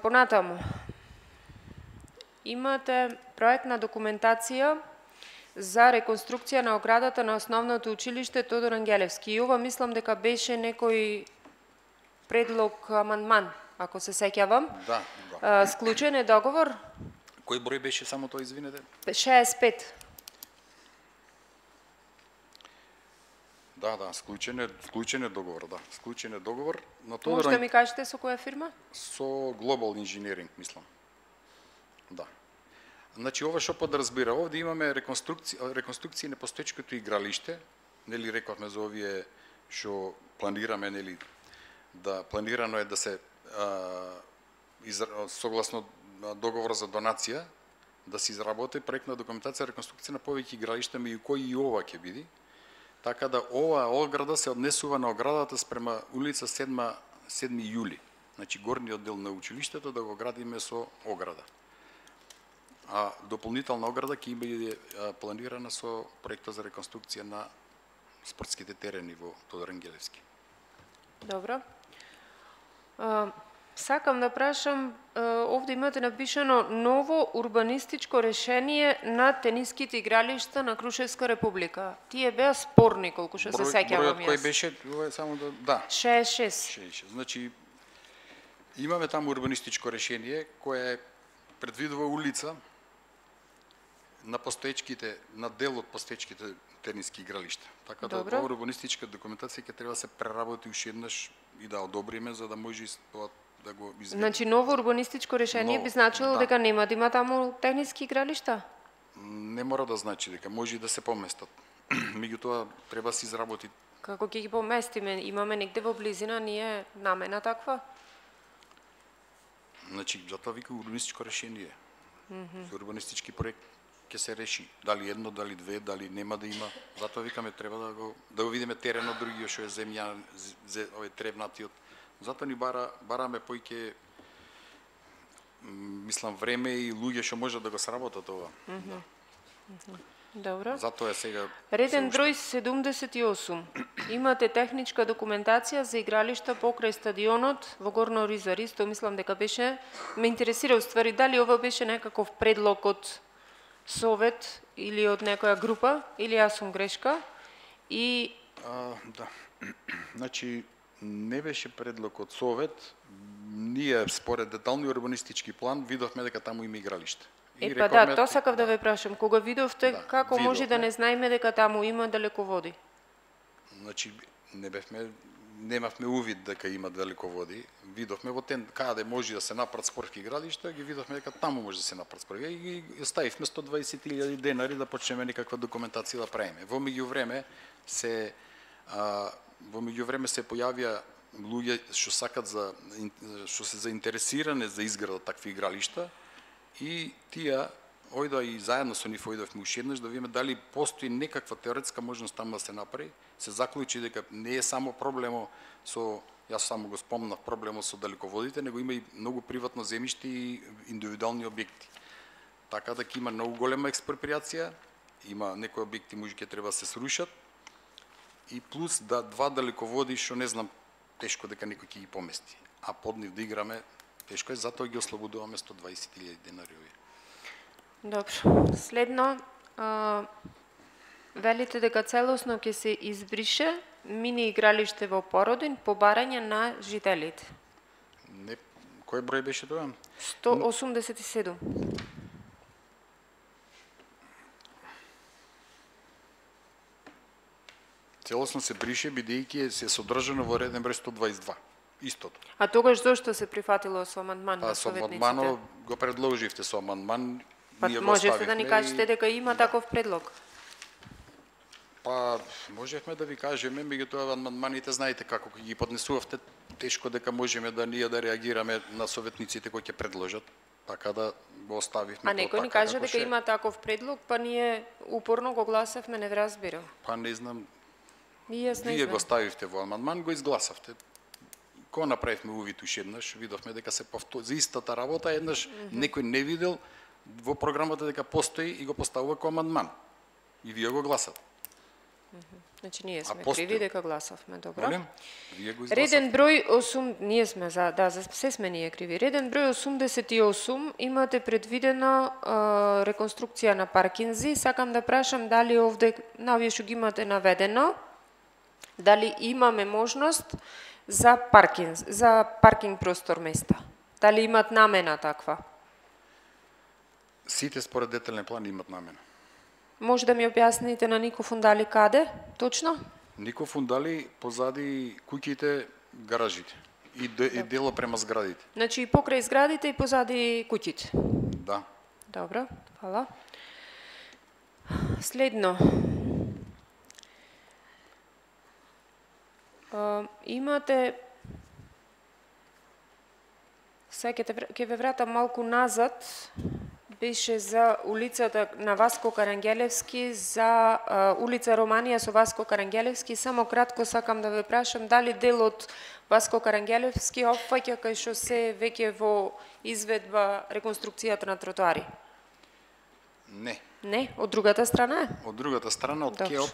Понатаму, имате проектна документација за реконструкција на оградата на основното училиште Тодор Ангелевски. И ова мислам дека беше некој предлог амандман, ако се сеќавам. Да. Склучен е договор? Кој број беше само тоа, извинете? 65. Да, склучен е договор, да. Склучен е договор. Може да ми кажете со која фирма? Со Global Engineering, мислам. Да. Значи, ова што подразбира? Овде имаме реконструкција на постоечкото игралиште, нели рековме за овие што планираме, нели, планирано е да се согласно договор за донација, да се изработи проектна документација реконструкција на повеќе игралишта, меѓу кои и ова ќе биде. Така да ова ограда се однесува на оградата спрема улица 7 јули. Значи горниот дел на училиштето да го градиме со ограда. А дополнителна ограда ќе биде планирана со проекта за реконструкција на спортските терени во Тодор Ангелевски. Добро. Сакам да прашам, овде имате напишано ново урбанистичко решение на тениските игралишта на Крушевска република. Тие беа спорни, колку што се сеќавам јас. Бројот кој беше, ова е само да. 66. Значи, имаме таму урбанистичко решение кое предвидува улица на постоечките, на дел од постоечките тениски игралишта. Така да ова урбанистичка документација ќе треба да се преработи уште еднаш и да одобриме за да може тоа да го изведеме. Значи ново урбанистичко решение би значило дека нема да има таму тениски игралишта? Не мора да значи дека може и да се поместат. Меѓутоа треба да се изработи. Како ќе ги поместиме? Имаме негде во близина ние намена таква? Значи затоа вика урбанистичко решение. За урбанистички проект ќе се реши дали едно, дали две, дали нема да има. Затоа викаме треба да го видиме теренот другиот што е земја, овој тревнатиот. Затоа ни бараме поиќе мислам време и луѓе што можат да го сработат ова. Добро. Затоа е сега реден број 78. Имате техничка документација за игралишта покрај стадионот во Горна Ориза. Исто мислам дека беше, ме интересира уствари дали ова беше некаков предлог од Совет или од некоја група, или јас сум грешка. И да. Значи не беше предлог од Совет. Ние според детални урбанистички план видовме дека таму има игралиште. Па да, тоа сакав да ве прашам. Кога видовте, како може да не знаеме дека таму има далеководи? Значи, не бевме немавме увид дека има далеководи. Видовме во каде може да се направат спортски игралишта, ги видовме дека таму може да се направат спортски и ги ставивме 120.000 денари да почнеме некаква документација да правиме. Во меѓувреме се појавија луѓе што сакат што се заинтересирани за изграда такви игралишта и тие ојдоа и заедно со нив ојдовме уште еднаш да видиме дали постои некаква теоретска можност таму да се направи. Се заклучи дека не е само проблемо со, јас само го спомнав, проблемот со далеководите, него има и многу приватно земјиште и индивидуални објекти. Така дека има многу голема експроприација, има некои објекти може ќе треба да се срушат и плюс два далеководи што не знам тешко дека некој ќе ги помести. А под нив да играме тешко е, затоа ги ослободуваме 120.000 денари. Добро. Следно, велите дека целосно ќе се избрише мини игралиште во Породин по барање на жителите. Не, кој број беше тоа? 187. Целосно се брише бидејќи се содржано во реден број 122. Истото. А тогаш зошто се прифатило со амандман на Со советниците? амандманот го предложивте со амандман. Па ние го можете да ни оставивме кажете дека има таков предлог? Па, можевме да ви кажеме, меѓутоа амандманите знаете како ги поднесувавте, тешко дека можеме да ние да реагираме на советниците кои ќе предложат, така да го оставивме. А некој ни каже дека има таков предлог, па ние упорно го гласавме, не разбирам. Па не знам. И јас не Вие знам. го ставивте во амандман, го изгласавте. Кога направивме увид уште еднаш, видовме дека се за истата работа, еднаш некој не видел во програмата дека постои и го поставува како амандман. И вие го гласате. Значи ние сме постои. криви дека гласавме, добро. Молим, вие го изгласавте. Реден број 8, ние сме за се сме ние криви. Реден број 88 имате предвидено реконструкција на паркинзи. Сакам да прашам дали овде на овие што ги имате наведено, дали имаме можност за паркинг простор места. Дали имат намена таква? Сите според детален план имат намена. Може да ми објасните на Нико Фундали каде, точно? Нико Фундали позади куќите, гаражите и дело према зградите. Значи и покрај зградите и позади куќите. Да. Добро, фала. Следно. Имате... Сега ќе ве вратам малку назад. Беше за улицата на Васко Карангелевски, за улица Романија со Васко Карангелевски. Само кратко сакам да ве прашам дали делот Васко Карангелевски опфаќа кај што се веќе во изведба реконструкцијата на тротоари? Не. Не, од другата страна е? Од другата страна, од Добро.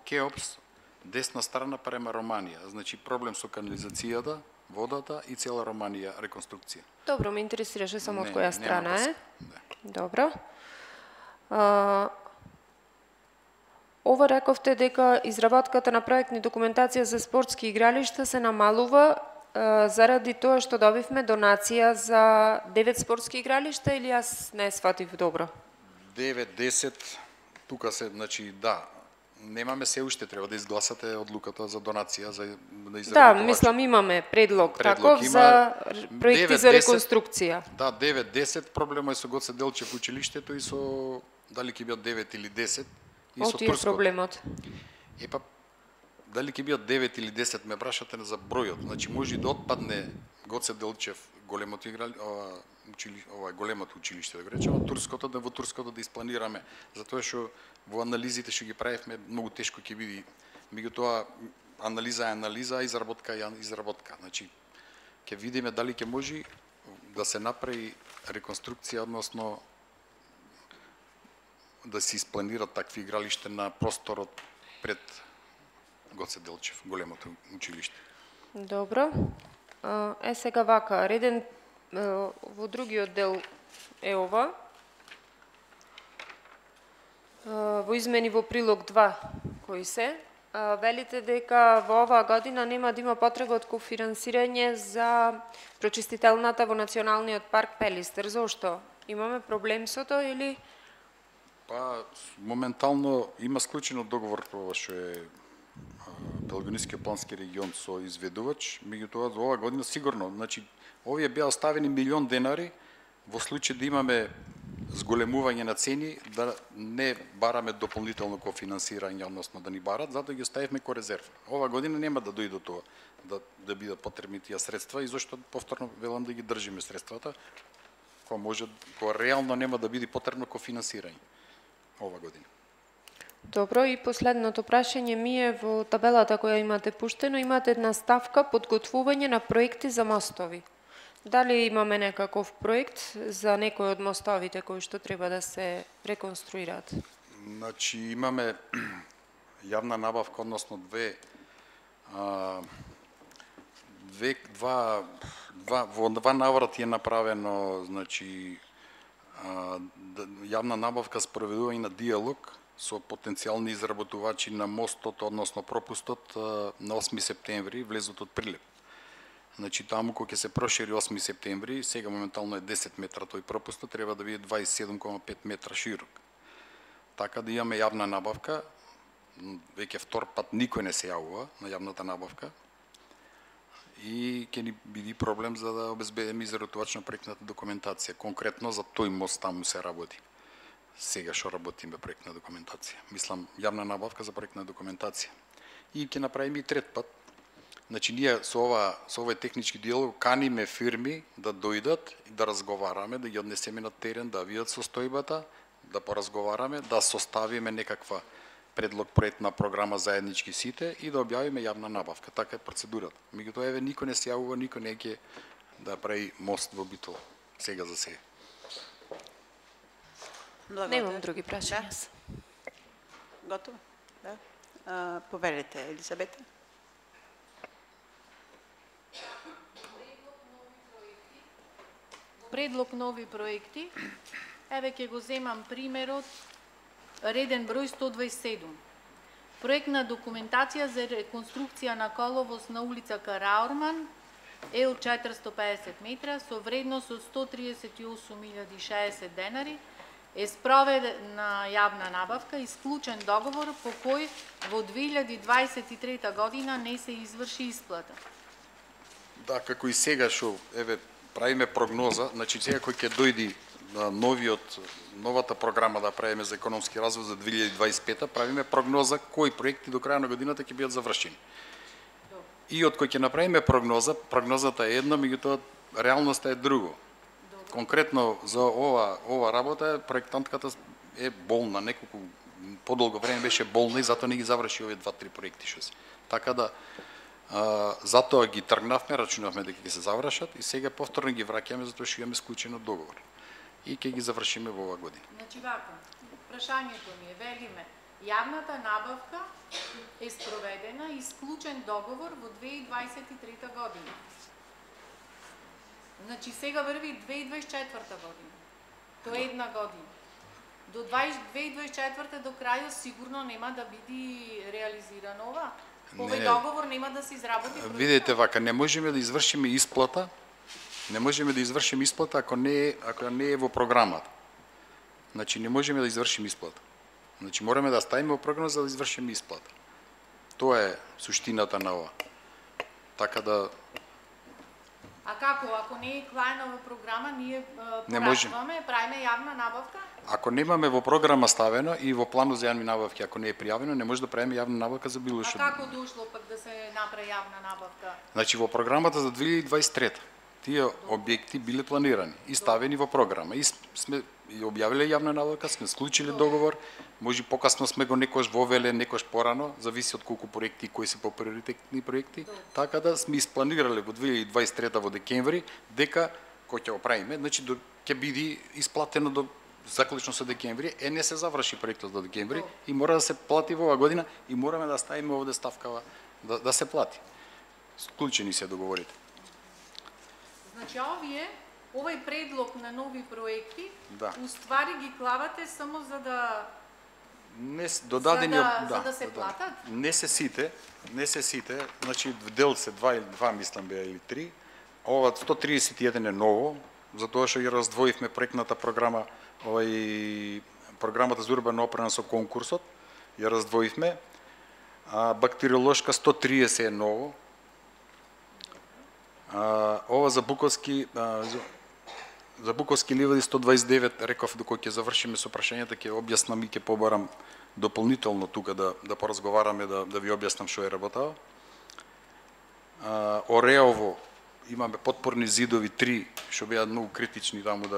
Кеопс, десна страна према Романија. Значи проблем со канализацијата, водата и цела Романија реконструкција. Добро, ме интересираше само од Не, која нема страна е. врска. Добро. Ова рековте дека изработката на проектни документација за спортски игралишта се намалува заради тоа што добивме донација за 9 спортски игралишта или јас не сватив добро? 9-10, тука се, значи, да, немаме се уште, треба да изгласате одлуката за донација за Да, мислам имаме предлог таков за проекти за 9-10. реконструкција. Да, 9-10, проблемот е со Гоце Делчев училиштето и со дали ќе бидат 9 или 10 и со Оти е турското. проблемот. Епа, дали ќе бидат 9 или 10, ме прашате за бројот. Значи, може да отпадне Гоце Делчев, големото големото училиште, да го речеме, турското, да во турското да испланираме, затоа што во анализите што ги правевме, многу тешко ќе биде. Меѓутоа, анализа е анализа, изработка е изработка. Значи, ќе видиме дали ќе може да се направи реконструкција, односно да се испланират такви игралишта на просторот пред Гоце Делчев, големото училиште. Добро. Сега вака, реден во другиот дел е ова. Во измени во прилог 2 кои се, велите дека во оваа година нема да има потреба од кофинансирање за прочистителната во Националниот парк Пелистер. Зошто? Имаме проблем со тоа или? Па, моментално има склучено договор ова што е Пелогонискиот плански регион со изведувач, меѓутоа за оваа година сигурно, значи овие беа оставени милион денари во случај да имаме зголемување на цени, да не бараме дополнително кофинансирање, односно да ни барат, затоа ги оставивме ко резерва. Ова година нема да дојде тоа да бидат потребни тие средства и зашто повторно велам да ги држиме средствата, кога реално нема да биде потребно кофинансирање ова година. Добро, и последното прашање ми е во табелата која имате пуштено, имате една ставка подготвување на проекти за мостови. Дали имаме некаков проект за некој од мостовите кои што треба да се реконструираат? Значи имаме јавна набавка, односно во два наврати е направено, значи јавна набавка спроведување на диалог со потенцијални изработувачи на мостот, односно пропустот на 8 септември, влезот од Прилеп. Значи таму кога ќе се прошири 8 септември, сега моментално е 10 метра тој пропустот, треба да биде 27,5 метра широк. Така да имаме јавна набавка, веќе втор пат никој не се јавува на јавната набавка и ќе ни биде проблем за да обезбедиме изработувач на проектната документација. Конкретно за тој мост таму се работи. Сега што работиме проектна документација. Мислам, јавна набавка за проектна документација. И ќе направиме и трет пат. Значи, ние со овој технички диалог каниме фирми да дојдат и да разговараме, да ги однесеме на терен, да видат состојбата, да поразговараме, да составиме некаква предлог проектна програма заеднички сите и да објавиме јавна набавка. Така е процедурата. Меѓутоа, еве, никој не се јавува, никој не ќе да прави мост во Битола. Сега за сега. Немам други прашања. Да. Готово? Да. Поверете, Елизабета. Предлог нови проекти. Еве ќе го земам примерот реден број 127. Проектна документација за реконструкција на коловоз на улица Караорман, Ел 450 метра, со вредност од 138.060 денари, е спроведена јавна набавка, исклучен договор по кој во 2023 година не се изврши исплата. Да, како и сега што еве правиме прогноза, значи сега кој ќе дојди на новата програма да правиме за економски развој за 2025, правиме прогноза кои проекти до крај на годината ќе бидат завршени. И од кој ќе направиме прогнозата е една, меѓутоа реалноста е друго. Конкретно за ова работа проектантката е болна, неколку подолго време беше болна и затоа не ги заврши овие 2-3 проекти што се. Така да затоа ги тргнавме, рачунавме дека ќе се завршат и сега повторно ги враќаме затоа што имаме склучен договор. И ќе ги завршиме во оваа година. Значи вака, прашањето ми е, велиме, јавната набавка е спроведена и склучен договор во 2023 година. Значи сега врви 2024 година. Тоа е една година. До 2024 до крајот сигурно нема да биде реализирано ова. Овој договор нема да се изработи. Видете вака, не можеме да извршиме исплата. Не можеме да извршиме исплата ако не е во програмата. Значи не можеме да извршиме исплата. Значи мораме да ставиме во програма за да извршиме исплата. Тоа е суштината на ова. Така да А како, ако не е клајна во програма, ние порачуваме, правиме јавна набавка? Ако немаме во програма ставено и во планот за јавни набавки, ако не е пријавено, не може да правиме јавна набавка за било што. А како дошло пак да се направи јавна набавка? Значи во програмата за 2023 тие објекти биле планирани и ставени во програма. И сме објавиле јавна набавка, сме склучиле договор, може покасно сме го некош вовеле, некош порано, зависи од колку проекти и кои се поприоритетни проекти, така да сме испланирале во 2023 во декември дека кој ќе го правиме, значи ќе биде исплатено до заклучно со декември, не се заврши проектот до декември и мора да се плати во оваа година и мораме да ставиме овде ставкава да се плати. Склучени се договорите. Значи овој предлог на нови проекти, да, уствари ги клавате само за да за да се платат? Не се сите, значи дел се два мислам беа или 3. Ова 131 е ново, затоа што ја раздвоивме проектната програма, програмата за урбана опрема со конкурсот, ја раздвоивме. бактериолошка 130 е ново. Ова за Буковски ливади 129, реков докога ќе завршиме со прашањата, ќе објаснам и ќе побарам дополнително тука да поразговараме, да ви објаснам што е работава. Ореово имаме подпорни зидови 3, што беа многу критични таму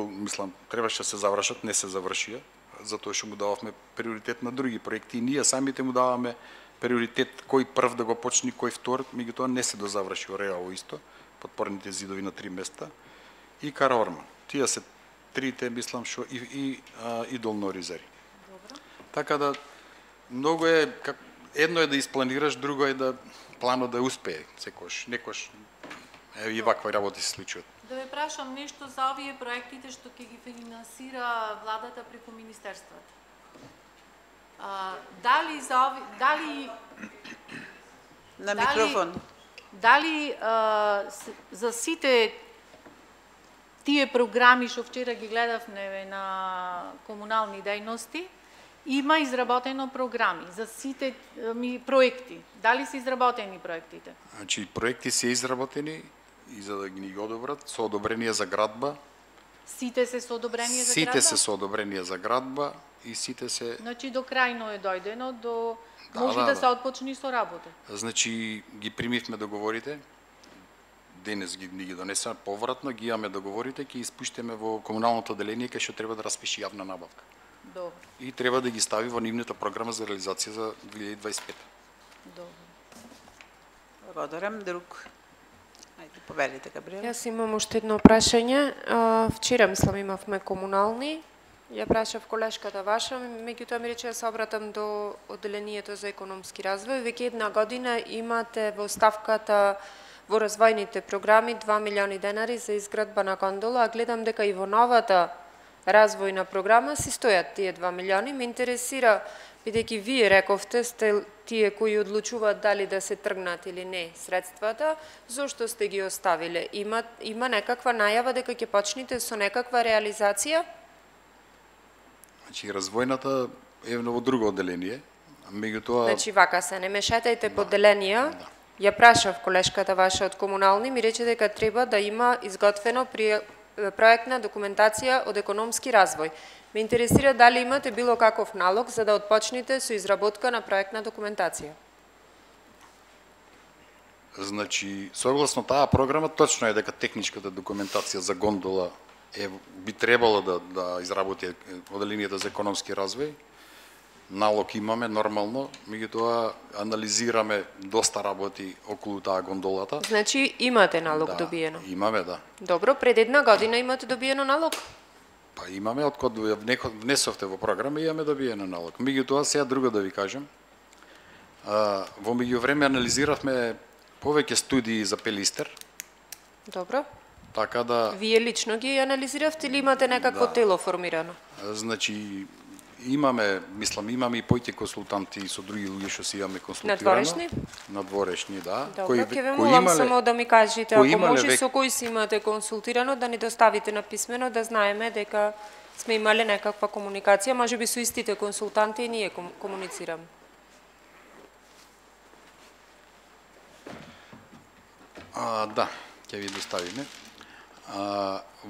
мислам, требаше да се завршат, не се завршија, затоа што му дававме приоритет на други проекти и ние самите му даваме приоритет кој прв да го почне, кој втор, меѓутоа не се дозаврши Ореово исто, подпорните зидови на 3 места и Караорман. Тие се трите, мислам, што и Долноризари. Така да многу е, едно е да испланираш, друго е да планот да успее, некош и ваква работи се случуваат. Да ве прашам нешто за овие проектите што ќе ги финансира владата преку министерствата. Дали на микрофон. Дали за сите тие програми што вчера ги гледавме на комунални дејности, има изработено програми за сите проекти. Дали се изработени проектите? Значи проекти се изработени и за да ги одобрат со одобрение за градба. Сите се со одобрение за градба? Сите се со одобрение за градба и сите се. Значи до крајно е дојдено, може да се отпочне со работа. Значи ги примивме договорите. Денес ги донесеме повратно, ги имаме договорите, ќе испуштиме во комуналното одделение кај што треба да распиши јавна набавка. Добро. И треба да ги стави во нивната програма за реализација за 2025. Добро. Благодарам. Друг. Ајде, повелите, Габриела. Јас имам уште едно прашање. Вчера, мислам, имавме комунални. Ја прашав колешката ваша, меѓутоа ми рече да се обратам до одделението за економски развој. Веќе една година имате во ставката во развојните програми 2 милиони денари за изградба на гондола, а гледам дека и во новата развојна програма си стојат тие 2 милиони. Ме интересира, бидејќи вие рековте сте тие кои одлучуваат дали да се тргнат или не средствата, зошто сте ги оставиле? Има некаква најава дека ќе почнете со некаква реализација? Значи развојната е во друго одделение, меѓутоа. Значи вака се, не мешајте поделенија. Да. Ја прашав колешката ваша од комунални, ми рече дека треба да има изготвено проектна документација од економски развој. Ме интересира дали имате било каков налог за да отпочнете со изработка на проектна документација. Значи, согласно таа програма, точно е дека техничката документација за гондола би требало да изработи одделението за економски развој. Налог имаме нормално, меѓутоа анализираме доста работи околу таа гондолата. Значи имате налог добиено? Имаме, да. Добро, пред една година имате добиено налог? Па имаме, од кога внесовте во програма, имаме добиено налог. Меѓутоа, сега друго да ви кажем. Во меѓувреме анализиравме повеќе студии за Пелистер. Добро. Така да. Вие лично ги анализиравте или имате некакво тело формирано? Значи, имаме и поќе консултанти со други луѓе што си имаме консултирано. Надворешни? Надворешни, да. Добро, ќе ве молам само да ми кажете, ако може со кој си имате консултирано, да ни доставите на писмено, да знаеме дека сме имале некаква комуникација, можеби со истите консултанти и ние комуницираме. Да, ќе ви доставиме.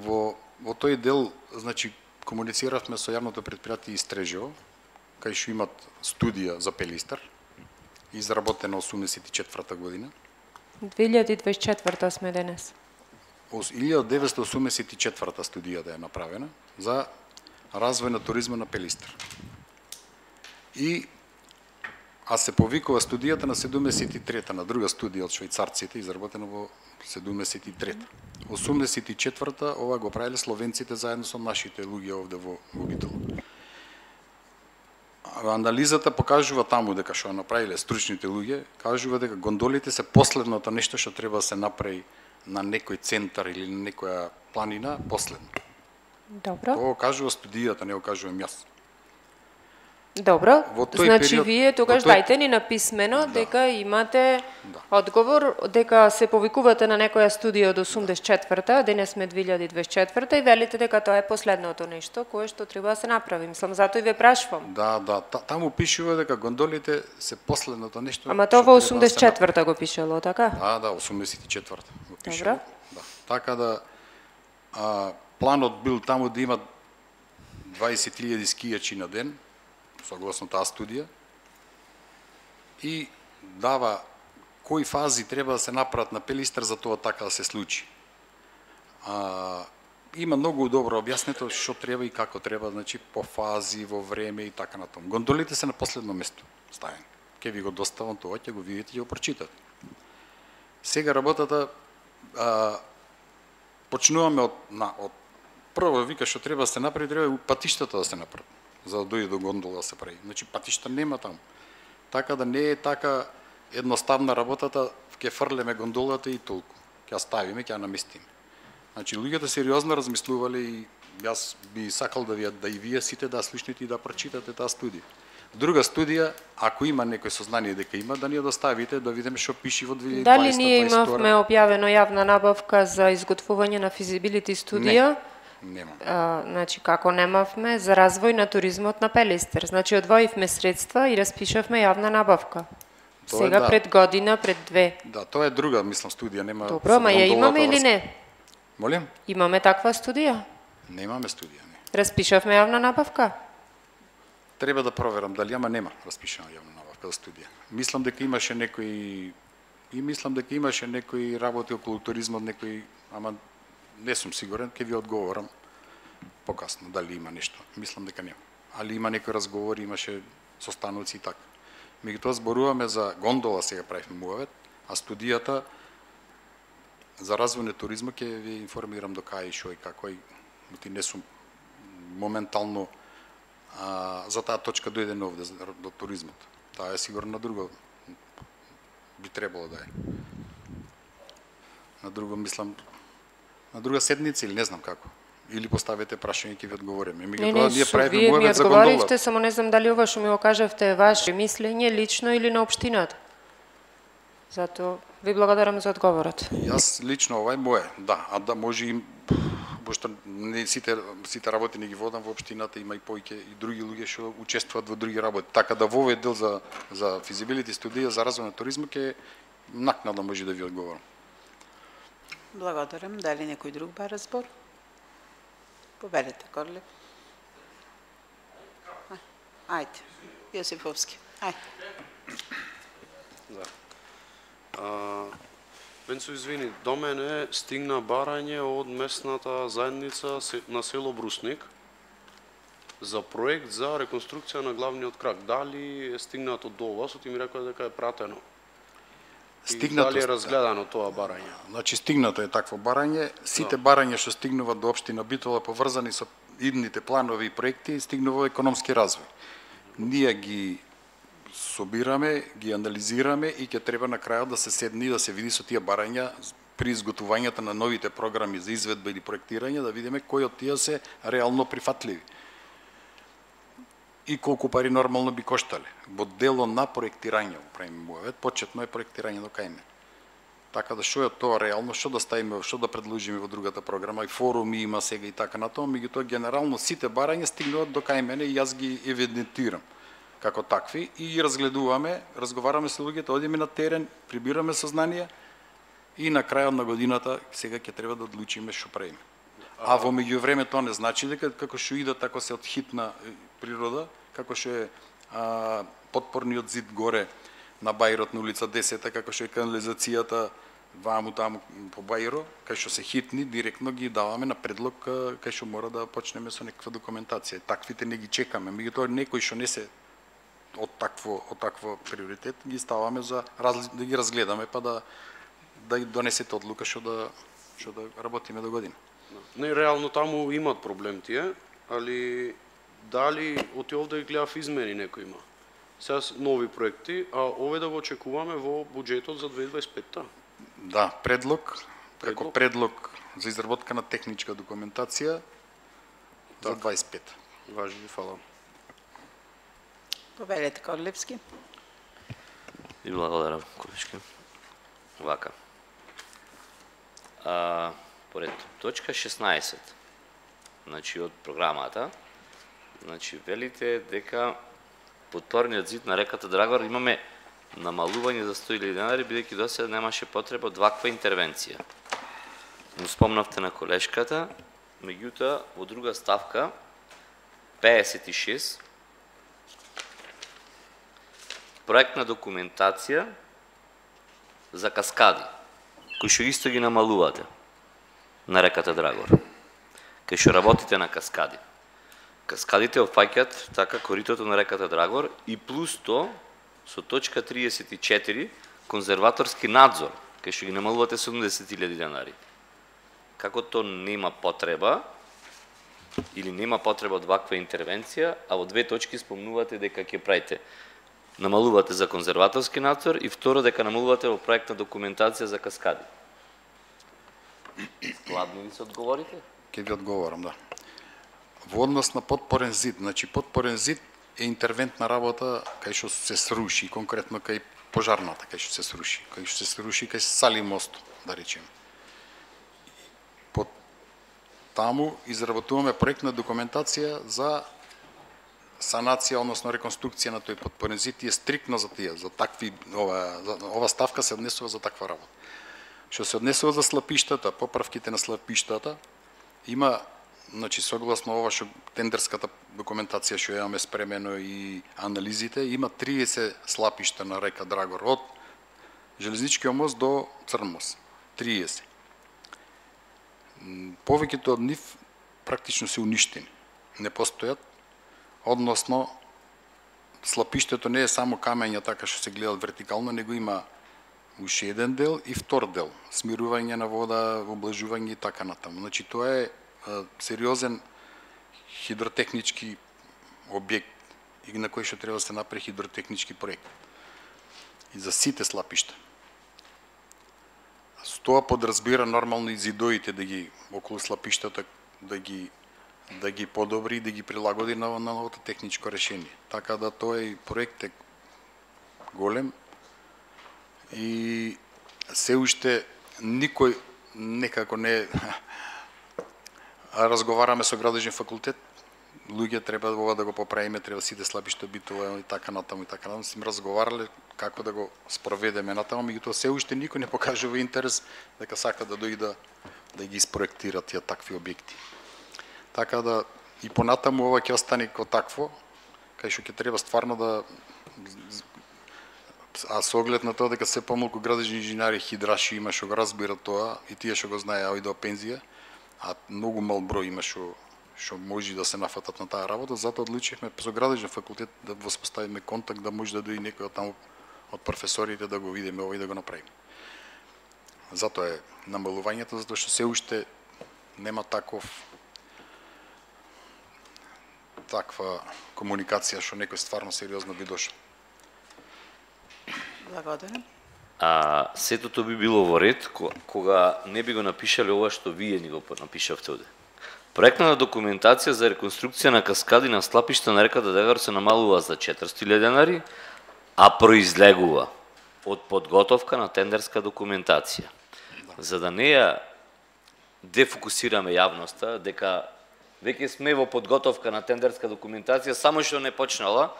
Во тој дел, значи, комунициравме со јавното предпријатие Истрежио, кај што имат студија за Пелистер, изработена 84 година. 2024 сме денес. 1984 студијата е направена за развој на туризма на Пелистер. А се повикува студијата на 73-та, на друга студија од швајцарците, изработена во 73-та. 84-та ова го правиле словенците заедно со нашите луѓе овде во Битола. Анализата покажува таму дека што направиле стручните луѓе, кажува дека гондолите се последното нешто што треба да се направи на некој центар или на некоја планина, последно. Добро. Тоа кажува студијата, не го кажувам јас. Добро, Во тој значи период- вие тогаш во тој- дајте ни написмено Да. дека имате Да. одговор, дека се повикувате на некоја студија од 84-та, денес сме 2024-та и велите дека тоа е последното нешто кое што треба да се направи. Мислам, затоа и ве прашувам. Да, таму пишува дека гондолите се последното нешто. Ама што тоа во треба да се направи. 84-та го пишало, така? Да, 84-та го пише. Добро. Да. Така да планот бил таму да има 20.000 скијачи на ден, согласно таа студија, и дава кои фази треба да се направат на Пелистар за тоа така да се случи. Има многу добро објаснето што треба и како треба, значи по фази, во време и така натаму. Гондолите се на последно место ставени. Ке ви го доставам тоа, ќе го видите и го прочитате. Сега работата почнуваме од прво вика што треба да се направи, треба патиштата да се направат за да дојде до гондола да се прави. Значи патишта нема таму. Така да не е така едноставна работата, ќе фрлеме гондолата и толку. Ќе ја ставиме, ќе ја наместиме. Значи луѓето сериозно размислувале и јас би сакал да и вие сите да слушнете и да прочитате таа студија. Друга студија, ако има некој сознание дека има, да ни ја доставите да видиме што пише во 2020. Дали ние имавме објавено јавна набавка за изготвување на физибилити студија? Нема. Значи, како немавме за развој на туризмот на Пелистер. Значи, одвоивме средства и распишавме јавна набавка. Тоа Сега да. пред година, пред две. Да, тоа е друга, мислам, студија, нема. Добро, ама ја имаме или не? Молим? Имаме таква студија? Немаме студија, не. Распишавме јавна набавка? Треба да проверам дали нема распишана јавна набавка за студија. Мислам дека имаше некои работи околу туризмот, ама не сум сигурен, ќе ви одговорам покасно дали има нешто. Мислам дека нема. Али има некои разговори, имаше состаноци и така. Меѓутоа зборуваме за гондола, сега правиме муавет, а студијата за развој на туризмот ќе ви информирам до кај шо и како и не сум моментално за таа точка дојден овде до туризмот. Таа е сигурно на друго би требало да е. На друго мислам на друга седница или не знам како. Или поставите прашање ќе ви одговориме. Не, вие ми одговоривте, само не знам дали ова што ми го кажавте е ваше мислење лично или на општината. Затоа ви благодарам за одговорот. Јас лично ова е мое, да, а да може и пошто не сите работи не ги водам во општината, има и повеќе и други луѓе што учествуваат во други работи. Така да во овој дел за физибилити студија за развој на туризмот ќе накнадно може да ви одговорам. Благодарам. Дали некој друг бара збор? Победете, Корле. Ајде, Јосифовски. Ајде. Мен се извини, до мене стигна барање од местната заедница на село Брусник за проект за реконструкција на главниот крак. Дали е стигнато до вас? Ти ми рекоа дека е пратено. Дали е разгледано тоа барање? Значи стигнато е такво барање. Сите барања што стигнуваат до општина Битола поврзани со идните планови и проекти стигнува во економски развој. Ние ги собираме, ги анализираме и ќе треба на крајот да се седне и да се види со тие барања при изготвувањето на новите програми за изведба или проектирање, да видиме кои од тие се реално прифатливи. И колку пари нормално би коштале. Во дело на проектирање, правиме муавет, почетно е проектирање до кајме. Така да што е тоа реално, што да ставиме, што да предложиме во другата програма, и форуми има сега и така натоа, меѓутоа генерално сите барања стигнуваат до кај мене и јас ги евидентирам како такви и разгледуваме, разговараме со луѓето, одиме на терен, прибираме сознание и на крајот на годината сега ќе треба да одлучиме што правиме. А во меѓувреме тоа не значи дека како што идат така се од хитна природа, како што е подпорниот зид горе на Бајрот на улица 10, како што е канализацијата ваму таму по Бајро, кај што се хитни, директно ги даваме на предлог кај што мора да почнеме со некаква документација. Таквите не ги чекаме, меѓутоа некои што не се од такво приоритет ги ставаме за да ги разгледаме па да донесете одлука што да работиме до година. Не, реално таму имат проблем тие, али дали од овде гледав измени некој има. Сега нови проекти, а овој да го очекуваме во буџетот за 2025-та. Да, како предлог за изработка на техничка документација за 25. Важно, фала. Повелете Корлевски. И благодарам, колешки. Вака. Поред точка 16, значи од програмата, значи велите дека подпорниот зид на реката Драгор имаме намалување за 100.000 денари, бидејќи досега немаше потреба од ваква интервенција. Му спомнавте на колешката, меѓутоа во друга ставка 56 проектна документација за каскади, кои што исто ги намалувате на реката Драгор, кај што работите на каскади. Каскадите опфаќаат така коритото на реката Драгор и плюс то со точка 34 конзерваторски надзор, кај што ги намалувате 70.000 денари. Како то нема потреба или нема потреба од ваква интервенција, а во две точки спомнувате дека ќе правите намалувате за конзерваторски надзор и второ дека намалувате во проектна документација за каскади. Складно ли се одговорите? Ке ви одговорам, да. Во однос на подпорен зид, значи подпорен зид е интервентна работа кај што се сруши, конкретно кај пожарната кај што се сруши, кај Сали мост, да речеме. Под таму изработуваме проектна документација за санација, односно реконструкција на тој подпорен зид и е стриктно за тие, за такви ова ставка се однесува за таква работа. Што се однесува за слапиштата, поправките на слапиштата, има, значи согласно ова што тендерската документација што имаме спремено и анализите, има 30 слапишта на река Драгор од железничкиот мост до Црн мост. 30. Повеќето од нив практично се уништени. Не постојат, односно слапиштето не е само камења така што се гледат вертикално, него има уште еден дел и втор дел, смирување на вода, облажување и така натаму. Значи тоа е сериозен хидротехнички објект и на кој што треба да се направи хидротехнички проект. И за сите слапишта. Со тоа подразбира нормално и зидоите да ги околу слапиштата да ги подобри и да ги прилагоди на новото техничко решение. Така да тој проект е голем и се уште никој некако не разговараме со градежен факултет, луѓе треба ова да го поправиме, треба сите слабишта битува и така натаму и така натаму. Сме разговарале како да го спроведеме натаму, меѓутоа се уште никој не покажува интерес дека сака да дојде да ги испроектира тие такви објекти. Така да и понатаму ова ќе остане како такво, кај што ќе треба стварно да со оглед на тоа дека се помалку градежни инженери, хидраши има што го разбира тоа и тие што го знаеа и до пензија, а многу мал број има што може да се нафатат на таа работа, затоа одлучивме со градежен факултет да воспоставиме контакт, да може да дојде некој од таму од професорите да го видиме ова и да го направиме. Затоа е намалувањето, затоа што се уште нема таква комуникација што некој стварно сериозно би дошол. Благодарам. Сетото би било во ред кога не би го напишале ова што вие ни го напишавте оде. Проектната документација за реконструкција на каскади на слапишта на реката Драгор се намалува за 400.000 денари, а произлегува од подготовка на тендерска документација. За да не ја дефокусираме јавноста дека веќе сме во подготовка на тендерска документација, само што не почнала,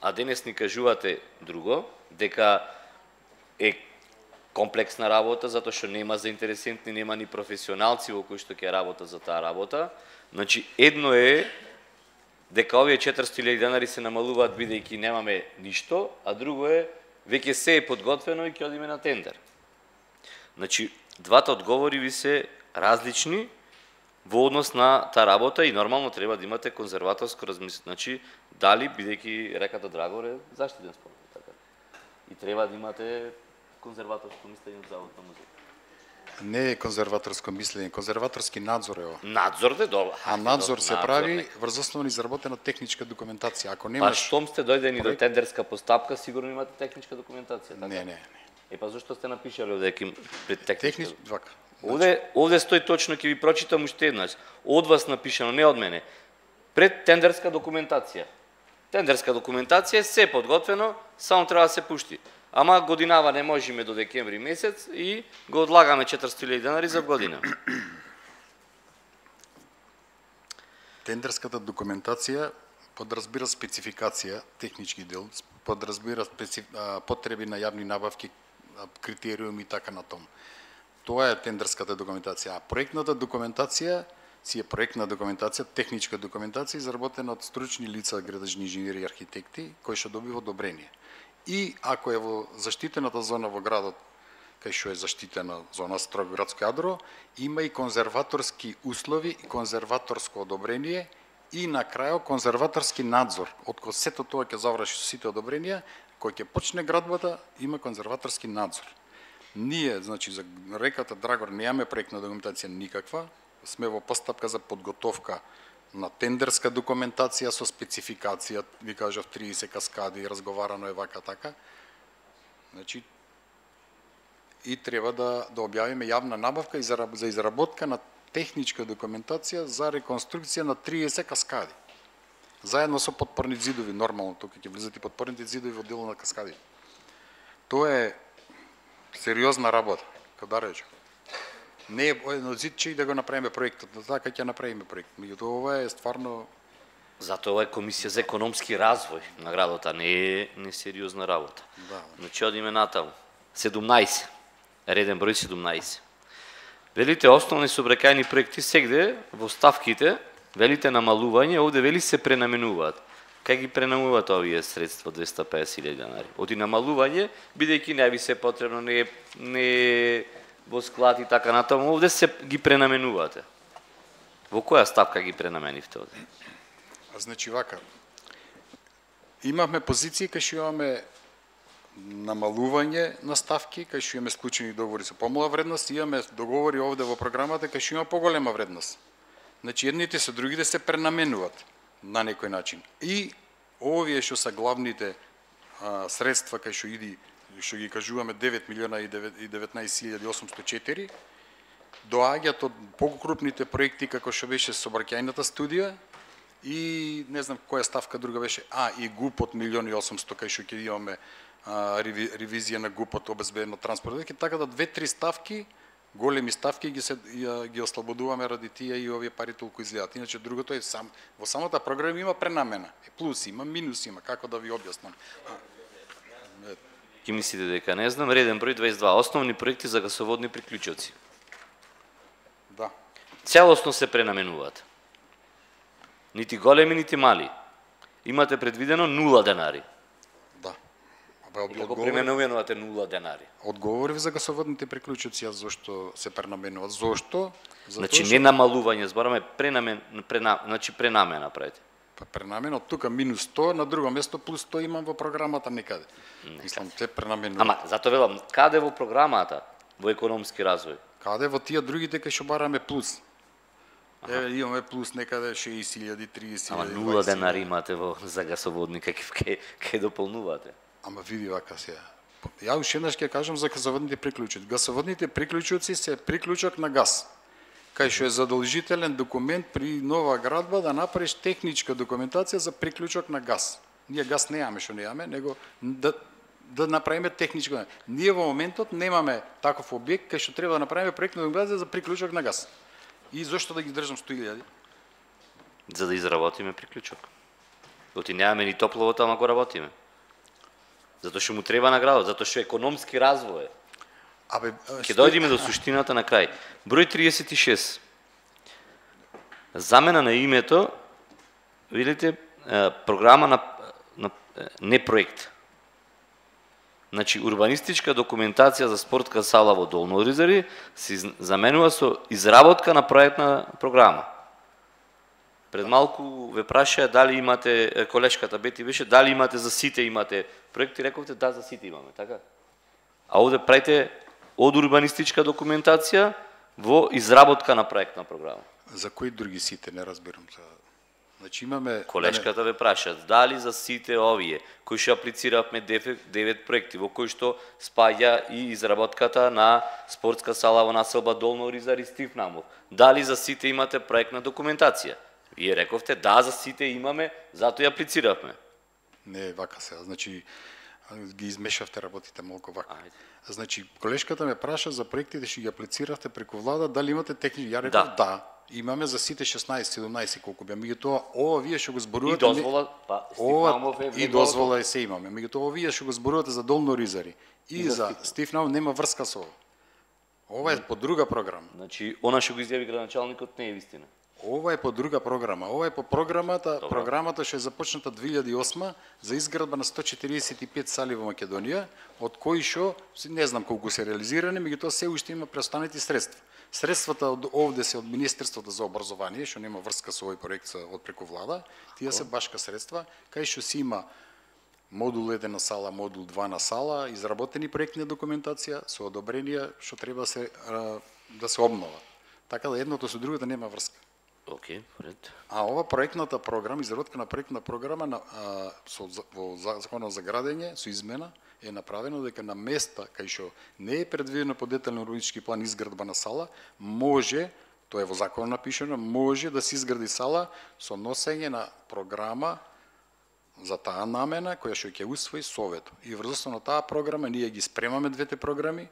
а денес ни кажувате друго, дека е комплексна работа, затоа што нема заинтересенти, нема ни професионалци во кои што ќе работат за таа работа. Значи, едно е дека овие 400.000 денари се намалуваат бидејќи немаме ништо, а друго е веќе се е подготвено и ќе одиме на тендер. Значи, двата одговори ви се различни во однос на таа работа и нормално треба да имате конзерваторско размислување. Значи, дали бидејќи реката Драгор е заштитен спомен, така. И треба да имате конзерваторско мислење од Заводот на музеј. Не е конзерваторско мислење, конзерваторски надзор е ова. Надзор де добро. А надзор се прави врз основа на изработена техничка документација. Ако немаш... Па штом сте дојдени до тендерска постапка, сигурно имате техничка документација, така? Не. Па зашто сте напишале овде пред техничка? Вака. Овде стои точно, ќе ви прочитам уште еднаш. Од вас напишано, не од мене. Пред тендерска документација. Тендерска документација е се подготвено, само треба да се пушти. Ама годинава не можеме до декември месец и го одлагаме 400.000 денари за година. Тендерската документација подразбира спецификација, технички дел, подразбира потреби на јавни набавки, критериуми и така на том. Тоа е тендерската документација. А проектната документација си е проектна документација, техничка документација изработена од стручни лица, градежни инженери и архитекти, кои што добива одобрение. И ако е во заштитената зона во градот, кај што е заштитена зона строго градско јадро, има и конзерваторски услови и конзерваторско одобрение и на крајот конзерваторски надзор. Откако сето тоа ќе заврши со сите одобренија, кој ќе почне градбата, има конзерваторски надзор. Ние, значи, за реката Драгор немаме проектна документација никаква, сме во постапка за подготовка на тендерска документација со спецификација, ви кажав 30 каскади, разговарано е вака така. Значи, и треба да објавиме јавна набавка и за изработка на техничка документација за реконструкција на 30 каскади. Заедно со подпорни зидови, нормално, тука ќе влизат и подпорните зидови во дело на каскади. Тоа е сериозна работа, како да речем. Не е едно зидче и да го направиме проектот, но така ќе направиме проект. Меѓутоа ова е стварно. Затоа ова е Комисија за економски развој на градот, а не е несериозна работа. Да. Значи одиме натаму. 17. Реден број 17. Велите основни сообраќајни проекти сегде во ставките, велите намалување, овде вели се пренаменуваат. Кај ги пренаменуваат овие средства 250.000 денари? Оди намалување, бидејќи не ви се потребно, не во склад и така натаму, овде се ги пренаменувате. Во која ставка ги пренаменивте овде? Значи вака, имавме позиции кај што имаме намалување на ставки, кај што имаме склучени договори со помала вредност, и имаме договори овде во програмата кај што има поголема вредност. Значи едните со другите се пренаменуваат на некој начин. И овие што се главните средства кај што иди, што ги кажуваме 9.019.804, доаѓаат од покрупните проекти како што беше сообраќајната студија и не знам која ставка друга беше, и ГУП од 1.800.000 кај што ќе имаме ревизија на ГУП-от обезбедено транспорт, така да 2-3 ставки, големи ставки ги ослободуваме ради тие и овие пари толку излеат. Иначе другото е во самата програма има пренамена, плюс има, минус има, како да ви објаснам. Ки мислите дека не знам, реден број 22, основни проекти за гасоводни приклучоци. Да. Целосно се пренаменуваат. Нити големи, нити мали. Имате предвидено 0 денари. Да. Како пренаменувате 0 денари? Одговорив за гасоводните приклучоци, зошто се пренаменуваат. Зошто? Значи не намалување, збораме значи пренамена правите. Пренамена од тука минус 100, на друго место плюс 100 имам во програмата некаде. Мислам, те пренаменуваат. Ама, затоа велам, каде во програмата, во економски развој? Каде во тие другите кај што бараме плюс? Имаме плюс некаде 60.000, 30.000. Ама 0 денари имате за гасоводни, кај дополнувате? Ама види вака сега. Ја уште еднаш ќе кажам за гасоводните приклучоци. Гасоводните приклучоци се приклучок на газ, кај што е задолжителен документ при нова градба да направиш техничка документација за приклучок на газ. Ние газ немаме, што немаме, него да направиме техничко. Ние во моментот немаме таков објект кај што треба да направиме проектна документација за приклучок на газ. И зошто да ги држам 100.000? За да изработиме приклучок. Оти немаме ни топловод, ама го работиме. Затоа што му треба на градот, затоа што економски развој. Ќе дојдеме до суштината на крај. Број 36. Замена на името, видите, програма на не проект. Значи, урбанистичка документација за спортска сала во Долно Оризари се заменува со изработка на проектна програма. Пред малку ве прашаа дали имате, колешката Бети беше, дали имате за сите имате проекти, рековте да, за сите имаме, така? А овде правите од урбанистичка документација во изработка на проектна програма. За кои други сите, не разбирам. Значи имаме... Колешката ве праша, дали за сите овие, кои што аплициравме 9 проекти, во кои што спаѓа и изработката на спортска сала во населба Долно Оризари Стив Намов, дали за сите имате проектна документација? Вие рековте, да, за сите имаме, затоа ја аплициравме. Не, вака се. Значи, ги измешавте работите малку вака. Ајде. Значи, колешката ме праша за проектите што ги аплициравте преку влада, дали имате технички? Ја реков да. Имаме за сите 16-17 колку беа. Меѓутоа, ова вие што го И зборувате дозвола, па Стифнамов е и дозвола е се имаме. Меѓутоа, вие што го зборувате за Долно Ризари и за Стифнамов нема врска со ова. Ова е по друга програма. Значи, она што го изјави градоначалникот не е вистина. Ова е по друга програма. Ова е по програмата што е започната 2008 за изградба на 145 сали во Македонија, од кои што не знам колку се реализирани, меѓутоа се уште има преостанати средства. Средствата од овде се од Министерството за образование, што нема врска со овој проект од преку влада, тие се башка средства, кај што си има модул 1 на сала, модул 2 на сала, изработени проектни документација со одобренија што треба да се обнова. Така да едното со другото нема врска. Океј, поред. А ова проектната програма, изработка на проектна програма во Законот за градење со измена е направено дека на места кај што не е предвидено по детален урбанистички план изградба на сала, може, тоа е во законот напишано, може да се изгради сала со носење на програма за таа намена која што ќе усвои Советот. И врз основа на таа програма ние ги спремаме двете програми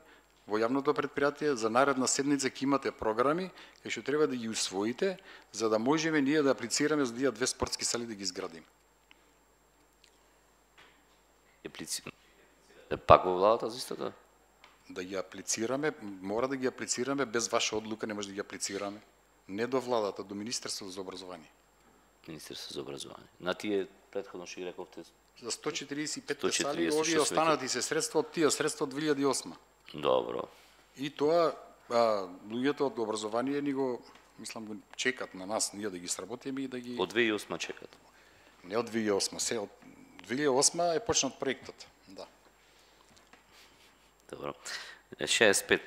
во јавното претпријатие. За наредна седница ќе имате програми кои што треба да ги усвоите за да можеме ние да аплицираме за тие 2 спортски сали да ги изградиме. Пак во владата за истото? Да ги аплицираме, мора да ги аплицираме без ваша одлука, не може да ги аплицираме. Не до владата, до Министерството за образование. Министерство за образование. На тие претходно што ги рековте За 145 146 сали, овие останати се средства од тие средства од 2008. Добро. И тоа луѓето од образование ни го, мислам, го чекат на нас, ние да ги сработиме и да ги... Од 2008 чекат. Не од 2008, се од 2008 е почнат проектот. Да. Добро. 65.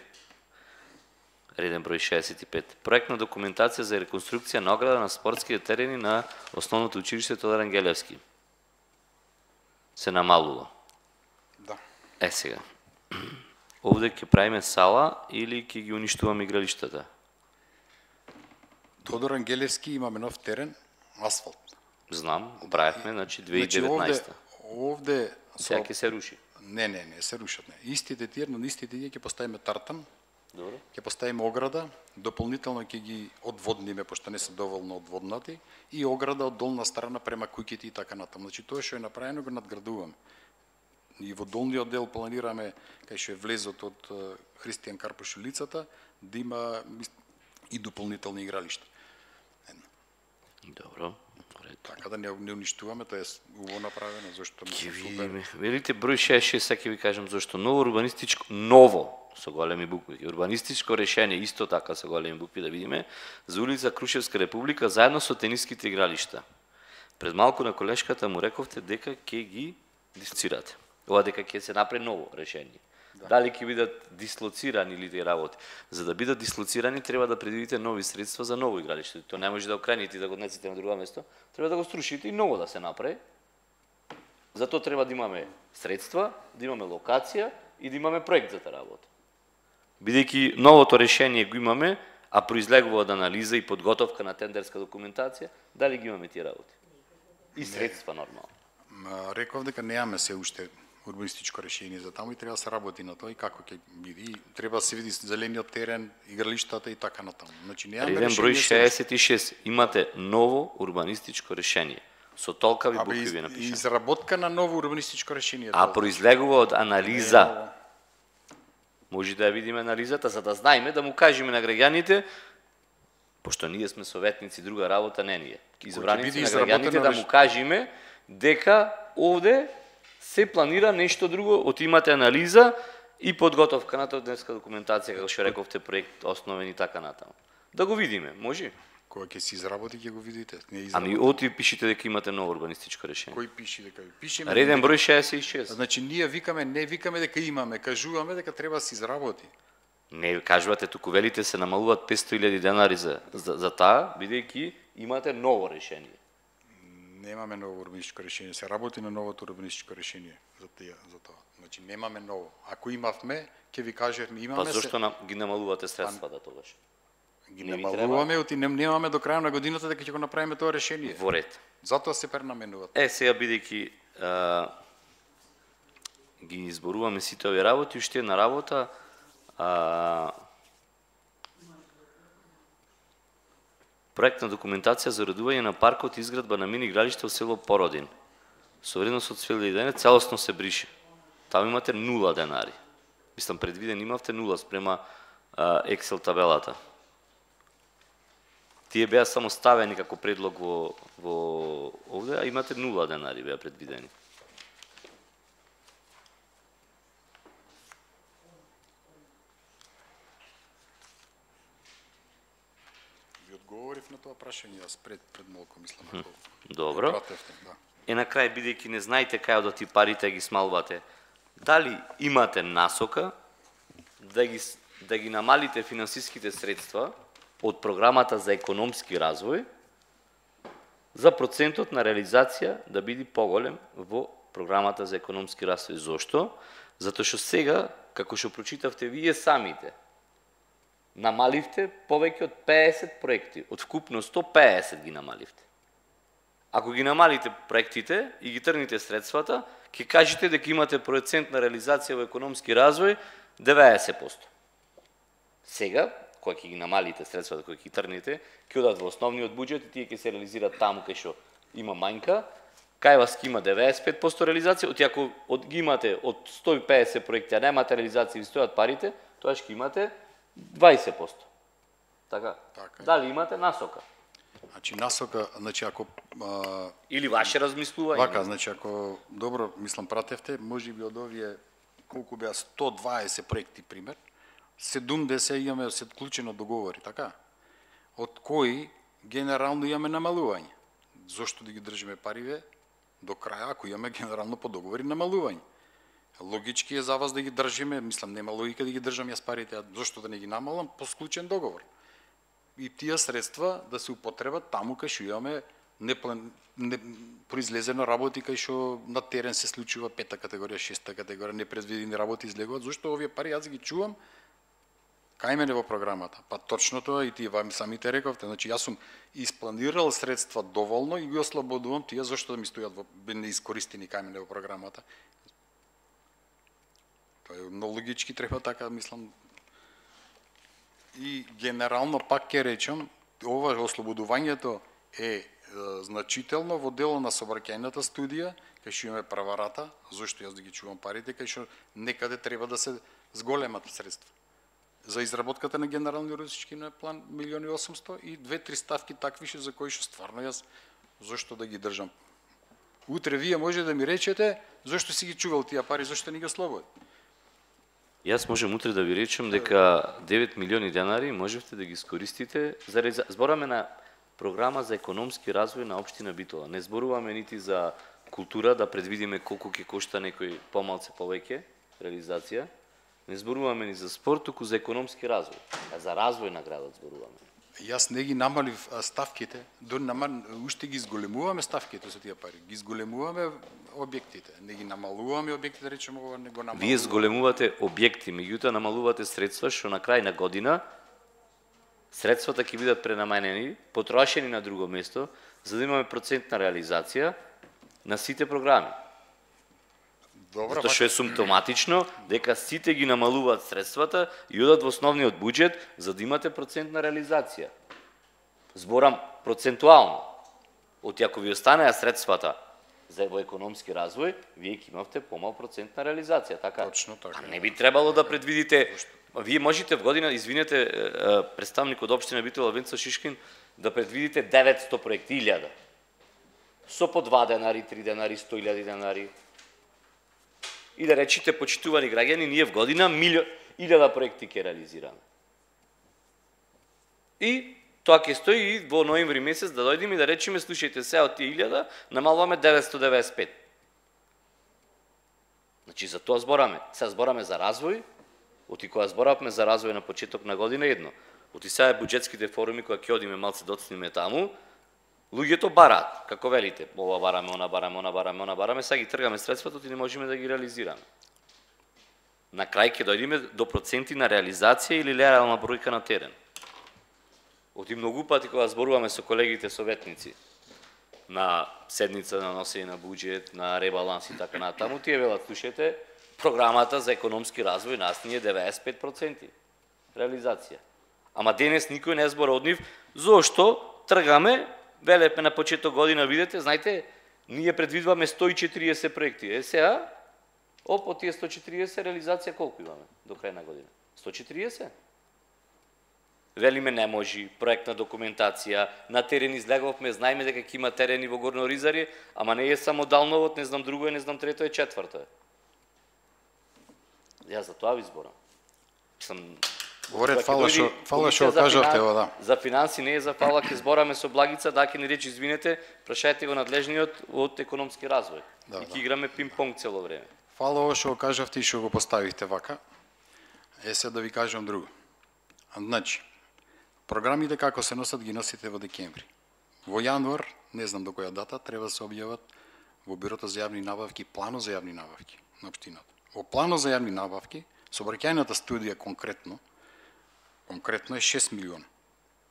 Реден број 65. Проектна документација за реконструкција на ограда на спортските терени на Основното училиште Тодор Ангелевски. Се намалува. Да. Сега. Овде ќе правиме сала или ќе ги уништуваме игралиштата? Тодор Ангелевски имаме нов терен, асфалт. Знам, го правихме, значи 2019. Овде Сега ќе се руши. Не, се рушат. Не. Истите тие, на истите тие ќе поставиме тартан, Добро. ќе поставиме ограда, дополнително ќе ги одводниме, пошто не се доволно одводнати, и ограда од долна страна према куќите и така натаму. Значи тоа што е направено го надградуваме. И во долниот дел планираме, кај што е влезот од Христијан Карпош улицата, да има и дополнителни игралишта. Добро. Така да не уништуваме, тоа е убаво направено, зашто Ќе мислам супер. видиме. Велите број 66, сега ќе ви кажам зашто. Ново со големи букви, урбанистичко решение, исто така со големи букви да видиме, за улица Крушевска република заедно со тениските игралишта. Пред малку на колешката му рековте дека ќе ги дислоцирате. Ова дека ќе се направи ново решение. Дали ќе бидат дислоцирани или тие работи? За да бидат дислоцирани треба да предвидите нови средства за ново игралиште. Тоа не може да окрените и да го однесете на друго место. Треба да го струшите и ново да се направи. Затоа треба да имаме средства, да имаме локација и да имаме проект за таа работа. Бидејќи новото решение го имаме, а произлегува од анализа и подготовка на тендерска документација, дали ги имаме тие работи? И средства нормално. Реков дека немаме се уште урбанистичко решение за таму и треба да се работи на тоа и како ќе биде. И треба да се види зелениот терен, игралиштата и така натаму. Значи немаме Реден решение. број 66. Имате ново урбанистичко решение. Со толкави букви ви напишано. Изработка на ново урбанистичко решение. А произлегува од анализа. Може да ја видиме анализата, за да знаеме, да му кажеме на граѓаните, пошто ние сме советници, друга работа не ние. Избраници на граѓаните да му кажеме дека овде се планира нешто друго, од имате анализа и подготовка на тендерска документација, како што рековте, проект основен и така натаму. Да го видиме, може? Кога ќе се изработи, ќе го видите. Ами оти пишите дека имате ново урбанистичко решение. Кој пише дека пишеме? Реден број 66. Значи ние не викаме дека имаме, кажуваме дека треба да се изработи. Не кажувате, туку велите се намалуваат 500.000 денари за таа, бидејќи имате ново решение. Немаме ново урбанистичко решение, се работи на новото урбанистичко решение за тоа. Значи немаме ново. Ако имавме, ќе ви кажевме, имаме. Па зошто ги намалувате средствата тогаш? Ги Не ви намалуваме, оти немаме до крај на годината дека ќе го направиме тоа решение. Во ред. Затоа се пренаменуваат. Сега бидејќи ги изборуваме сите овие работи, уште една работа, проектна документација за уредување на паркот и изградба на мини игралиште во село Породин. Со вредност од 1000 денари целосно се брише. Таму имате 0 денари. Мислам, предвиден имавте 0 спрема Excel табелата. Тие беа само ставени како предлог во овде, а имате 0 денари беа предвидени. Ви одговорив на тоа прашање јас пред малку, мислам. Добро. Да. На крај, бидејќи не знаете кај одат и парите ги смалвате, дали имате насока да ги намалите финансиските средства од програмата за економски развој за процентот на реализација да биде поголем во програмата за економски развој. Зошто? Затоа што сега, како што прочитавте вие самите, намаливте повеќе од 50 проекти, од вкупно 150 ги намаливте. Ако ги намалите проектите и ги тргнете средствата, ќе кажете дека имате процент на реализација во економски развој 90%. Сега, кога ќе ги намалите средствата, кои ќе ги тргнете, ќе одат во основниот буџет и тие ќе се реализираат таму кај што има мањка, кај вас ќе има 95% реализација, оти ако ги имате од 150 проекти, а немате реализација и стојат парите, тоа ќе имате 20%. Така? Дали имате насока? Значи насока, ако или ваше размислување. Вака, значи ако добро, мислам, пратевте, можеби од овие колку беа 120 проекти пример, 70 имаме се вклучено договори, така? Од кои генерално имаме намалување. Зошто да ги држиме париве до краја ако имаме генерално по договори намалување? Логички е за вас да ги држиме, мислам нема логика да ги држам јас парите, а зошто да не ги намалам по склучен договор. И тие средства да се употребат таму кај што имаме произлезено работи кај што на терен се случува 5-та категорија, 6-та категорија, непредвидени работи излегуваат, зашто овие пари јас ги чувам кај мене во програмата. Па точно тоа и тие вам самите рековте, значи јас сум испланирал средства доволно и ги ослободувам тие зашто да ми стојат во неискористени кај мене во програмата. Тоа е многу логички, треба така, мислам. И генерално пак ќе речам, ова ослободувањето е значително во дело на сообраќајната студија, кај што имаме праварата, зашто јас да ги чувам парите, кај што некаде треба да се зголемат средства. За изработката на генерални урбанистички план 1.800.000 и 2-3 ставки такви за кои што стварно јас зашто да ги држам. Утре вие може да ми речете зашто си ги чувал тие пари, зашто не ги ослободи. Јас можем утре да ви речем дека 9 милиони денари можевте да ги искористите за збораме на програма за економски развој на општина Битола. Не зборуваме нити за култура да предвидиме колку ќе кошта некој помалце повеќе реализација. Не зборуваме ни за спорт, туку за економски развој. А за развој на градот зборуваме. Јас не ги намалив ставките, уште ги зголемуваме ставките со тие пари. Ги зголемуваме објектите, не ги намалуваме објектите, речеме ова не го намалуваме. Вие зголемувате објекти, меѓутоа намалувате средства што на крај на година средствата ќе бидат пренаменени, потрошени на друго место, за да имаме процентна реализација на сите програми. Добро, Затоа што е симптоматично дека сите ги намалуваат средствата и одат во основниот буџет за да имате процентна реализација. Зборам процентуално. Оти ако ви останеа средствата за во економски развој, вие ќе имавте помал процентна реализација, така? Точно така. А не би требало да предвидите. Вие можете в година, извинете, представник од општина Битола Венца Шишкин, да предвидите 900 проекти, 1000. Со по 2 денари, 3 денари, 100.000 денари. И да речите, почитувани граѓани, ние в година 1000 проекти ќе реализираме. И тоа ќе стои и во ноември месец да дојдеме и да речеме, слушајте, се од тие 1000 намалуваме 995. Значи за тоа збораме. Сега збораме за развој. Оти кога зборавме за развој на почеток на година едно. Оти сега буџетските форуми кога ќе одиме малце доцниме таму, луѓето бараат, како велите, ова бараме, она бараме, она бараме, она бараме, сега ги тргаме средствата и не можеме да ги реализираме. На крај ќе дојдеме до проценти на реализација или реална бројка на терен. Оти многу пати кога зборуваме со колегите советници на седница на носење на буџет, на ребаланс и така натаму, тие велат, слушате, програмата за економски развој нас ни е 95% реализација. Ама денес никој не збора од нив, зошто тргаме, велепме на почеток година, видите, знаете, ние предвидваме 140 проекти. Сега, од тие 140 реализација колку имаме до крај на година? 140? Велиме не можи, проектна документација, на терен излеговме, знаеме дека ќе има терени во Горно Оризаре, ама не е само Далновод, не знам друго е, не знам трето е, четврто е. Јас за тоа ви зборам. Говорет, фала што кажавте, да. За финанси не е за фала, ќе збораме со Благица, да ќе ни речи извинете, прашајте го надлежниот од економски развој. И ќе играме пинг-понг цело време. Фала ово што го кажавте и што го поставихте вака. Сега да ви кажам друго. Значи, програмите како се носат ги носите во декември. Во јануар, не знам до која дата, треба да се објават во Бюрото за јавни набавки планот за јавни набавки на општината. Во планот за јавни набавки, сообраќајната студија конкретно е 6 милиона.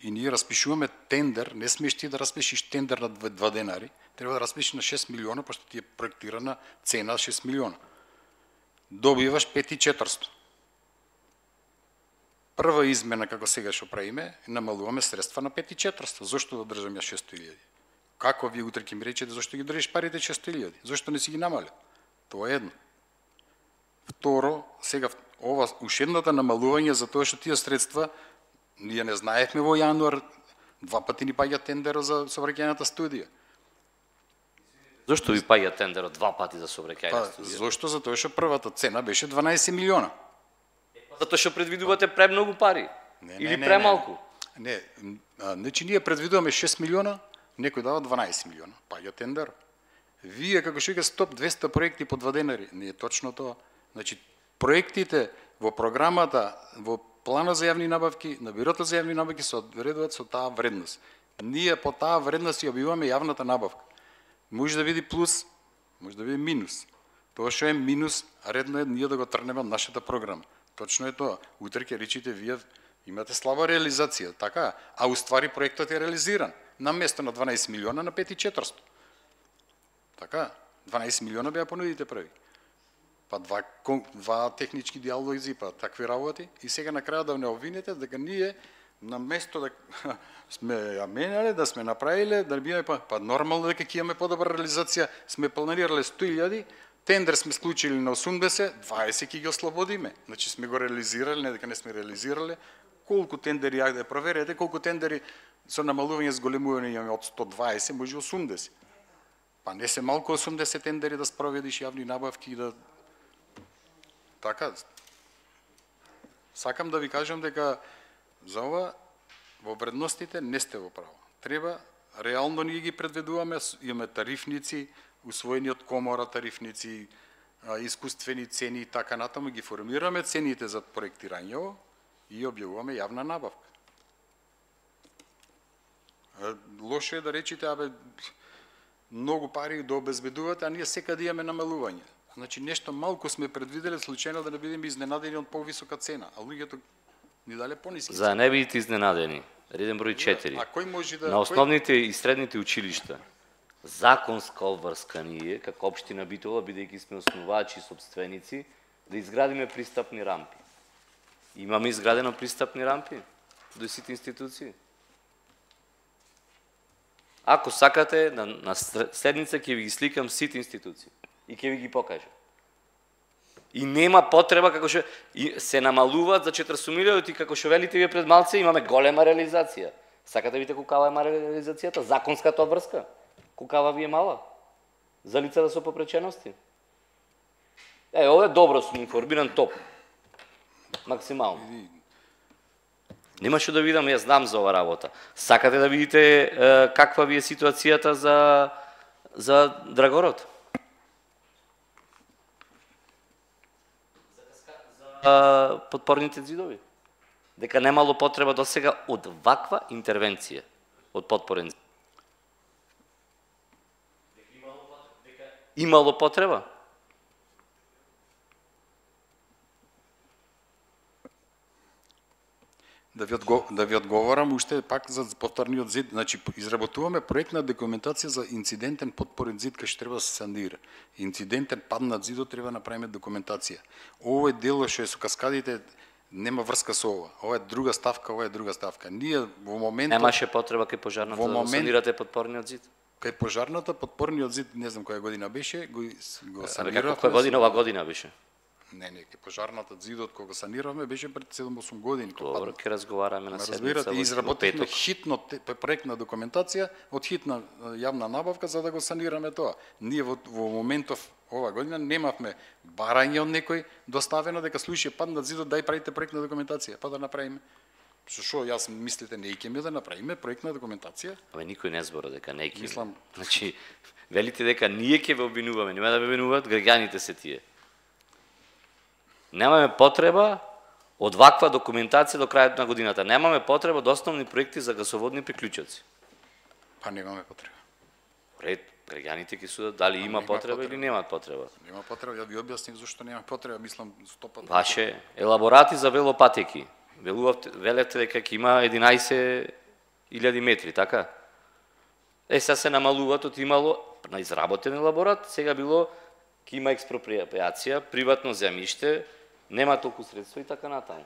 И ние распишуваме тендер, не смееш ти да распишиш тендер на 2 денари, треба да распишиш на 6 милиона, пошто ти е проектирана цена 6 милиона. Добиваш 5.400. Прва измена, како сега што правиме, намалуваме средства на 5.400. Зошто да држам ја 600.000? Како вие утре ќе ми речете зошто ги држиш парите 600.000? Зошто не си ги намалил? Тоа е едно. Второ, сега ова ушедната намалување за тоа што тие средства ние не знаевме во јануар, 2 пати ни паѓа тендерот за сообраќајната студија. Зошто ви паѓа тендерот 2 пати за сообраќајна студија? Зошто? Затоа што првата цена беше 12 милиона. Затоа што предвидувате премногу пари? Или премалку? Не, значи ние предвидуваме 6 милиона, некој дава 12 милиона, паѓа тендер. Вие како што вика 100-200 проекти по 2 денари, не е точно тоа. Значи проектите во програмата, во планот за јавни набавки, на Бюрото за јавни набавки се одредуваат со таа вредност. Ние по таа вредност ја објавуваме јавната набавка. Може да биде плюс, може да биде минус. Тоа што е минус, редно е ние да го тргнеме од нашата програма. Точно е тоа. Утре ќе речите вие имате слаба реализација, така? А уствари проектот е реализиран. На место на 12 милиона на 5.400. Така? 12 милиона беа понудите први. Па два технички диалози, па такви работи. И сега на крајот да не обвините дека ние на место да сме ја менале, да сме направиле, да биеме па нормално дека ќе имаме подобра реализација, сме планирале 100.000, тендер сме склучили на 80, 20 ќе ги ослободиме. Значи сме го реализирале, не дека не сме реализирале. Колку тендери ја да проверете, колку тендери со намалување зголемување имаме од 120, може 80. Па не се малку 80 тендери да спроведиш јавни набавки и да така. Сакам да ви кажам дека за ова во вредностите не сте во право. Треба реално ние ги предвидуваме, имаме тарифници, усвоени од комора тарифници, искуствени цени и така натаму, ги формираме цените за проектирање и објавуваме јавна набавка. Лошо е да речите, многу пари да обезбедувате, а ние секаде имаме намалување. Значи нешто малку сме предвиделе случајно да не бидеме изненадени од повисока цена, а луѓето ни дале пониски. За да не бидете изненадени, реден број 4. А кој може да... На основните и средните училишта, законска обврска ние, како општина Битола, бидејќи сме основачи и собственици, да изградиме пристапни рампи. Имаме изградено пристапни рампи до сите институции. Ако сакате, на следница ќе ви ги сликам сите институции и ќе ви ги покажам. И нема потреба, како што се намалуваат за 400 милиони, и како што велите вие пред малце, имаме голема реализација. Сакате видите колкава е мала реализацијата? Законската обврска? Колкава ви е мала? За лица да се попречености? Ова е добро, сум информиран, топ. Максимално. Нема што да видам, јас знам за ова работа. Сакате да видите каква ви е ситуацијата за Драгород? За подпорните зидови. Дека немало потреба до сега од ваква интервенција од подпорен зид. Имало потреба? Да ви одговорам уште пак за повторниот зид. Значи, изработуваме проектна документација за инцидентен подпорен зид кај што треба да се санира. Инцидентен паднат зидот треба да направиме документација. Овој дел што е со каскадите нема врска со ова. Ова е друга ставка, ова е друга ставка. Ние во моментот Немаше потреба кај пожарната да санирате подпорниот зид? Кај пожарната подпорниот зид, не знам која година беше, го саниравме. Која година, ова година беше? Не, кај пожарната зидот кога саниравме беше пред 7-8 години. Добро, ќе разговараме на седница. Разбирате, изработивме хитно проектна документација од хитна јавна набавка за да го санираме тоа. Ние во моментов ова година немавме барање од некој доставено дека случај паднат зидот, дај правите проектна документација, па да направиме. Што јас мислите не икеме да направиме проектна документација? Абе никој не збора дека не икеме. Мислам, Значи, велите дека ние ќе ве обвинуваме, нема да ве обвинуваат граѓаните се тие. Немаме потреба од ваква документација до крајот на годината. Немаме потреба од основни проекти за гасоводни приклучоци. па немаме потреба. Ред, граѓаните ќе судат дали има потреба или немаат потреба. Нема потреба, ја ви објаснив зашто нема потреба, мислам 100%. Ваше елаборати за велопатеки. Велевте дека ќе има 11.000 метри, така? Сега се намалуваат од имало на изработен елаборат, сега било ќе има експроприација, приватно земјиште, нема толку средства и така натаму.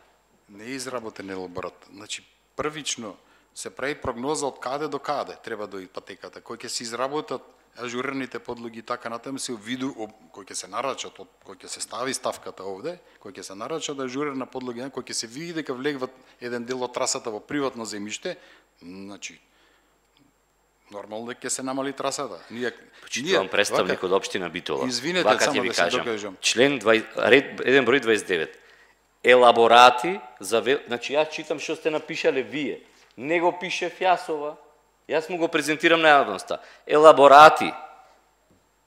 Не е изработен елаборат. Значи, првично се прави прогноза од каде до каде треба да патеката, кој ќе се изработат ажурираните подлоги и така натаму се виду кој ќе се нарачат, кој ќе се стави ставката овде, кој ќе се нарачат ажурирана подлога, кој ќе се види дека влегват еден дел од трасата во приватно земјиште, значи нормално дека ќе се намали трасата. Почитувам представник од општина Битола. Извинете, Вака само ќе ви да се кажам. докажам. Член 20, ред 1 број 29. Елаборати за значи јас читам што сте напишале вие. Не го пишев јас ова. Јас му го презентирам на јавноста. Елаборати.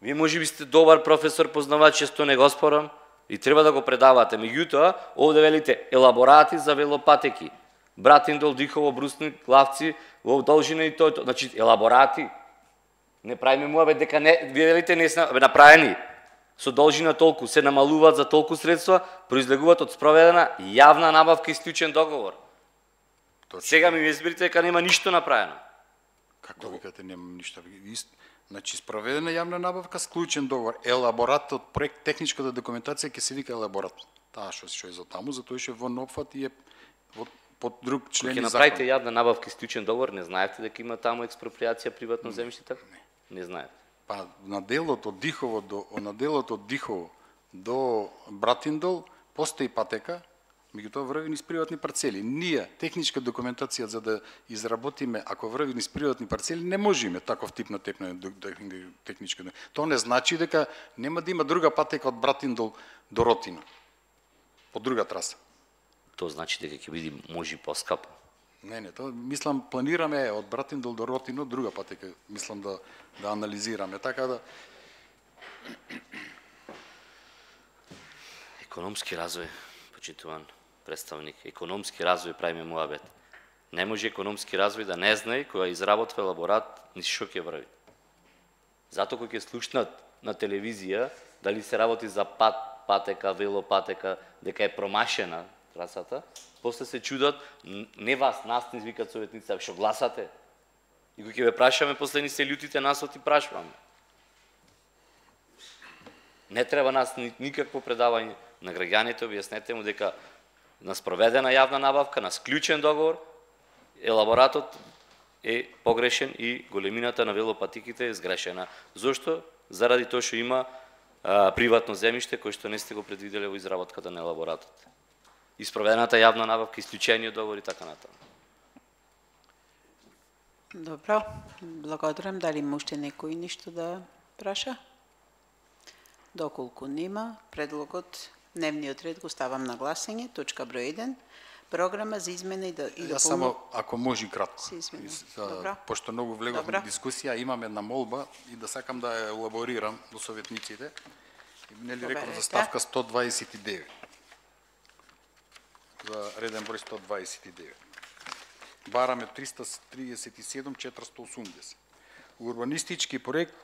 Вие можеби сте добар професор, познавач, често не го спорам и треба да го предавате. Меѓутоа, овде велите елаборати за велопатеки. Братиндол, Дихово, Брусник, Лавци, во должина и тоа. Значи, елаборати. Не правиме муабе дека не, вие велите не се направени. Со должина толку, се намалуваат за толку средства, произлегуваат од спроведена јавна набавка и исклучен договор. Сега ми изберите дека нема ништо направено. Како викате нема ништо? Значи, спроведена јавна набавка, склучен договор. Елаборатот, проект, техничката документација ќе се вика елаборат. Таа што е за таму, затоа што во опфат и е под друг член и закон. Ќе направите јавна набавка и исклучен договор, не знаевте дека има таму експроприација приватно земјиште така? Не знаете. Па на делот од Дихово до Братиндол постои патека, меѓутоа врви низ приватни парцели. Ние техничка документација за да изработиме, ако врви низ приватни парцели, не можеме таков тип на техничка. Тоа не значи дека нема да има друга патека од Братиндол до Ротино. По друга траса. Тоа значи дека ќе биде може поскапо. Не, тоа мислам планираме од Братиндол до Ротино друга патека, мислам да анализираме, така да економски развој, почитуван представник, економски развој правиме муабет. Не може економски развој да не знае која изработва елаборат низ што ќе врви. Затоа кога ќе слушнат на телевизија дали се работи за патека, велопатека, дека е промашена трасата, после се чудат, не вас, нас не извикат советници, што гласате. И кога ќе ве прашаме, после ни се љутите, нас оти прашваме. Не треба нас никакво предавање на граѓаните, објаснете му дека на спроведена јавна набавка, на склучен договор, елаборатот е погрешен и големината на велопатиките е сгрешена. Зошто? Заради тоа што има приватно земјиште кој што не сте го предвиделе во изработката на елаборатот. И спроведената јавна набавка, исклучениот договор и така натаму. Добро, благодарам. Дали има уште некој нешто да праша? Доколку нема, предлогот, дневниот ред го ставам на гласање, точка број 1, програма за измена и Јас само, ако може кратко, Добро. пошто многу влегов во дискусија, имам една молба и да сакам да ја елаборирам до советниците. Нели реков за ставка 129. За реден број 129. Бараме 337-480. Урбанистички проект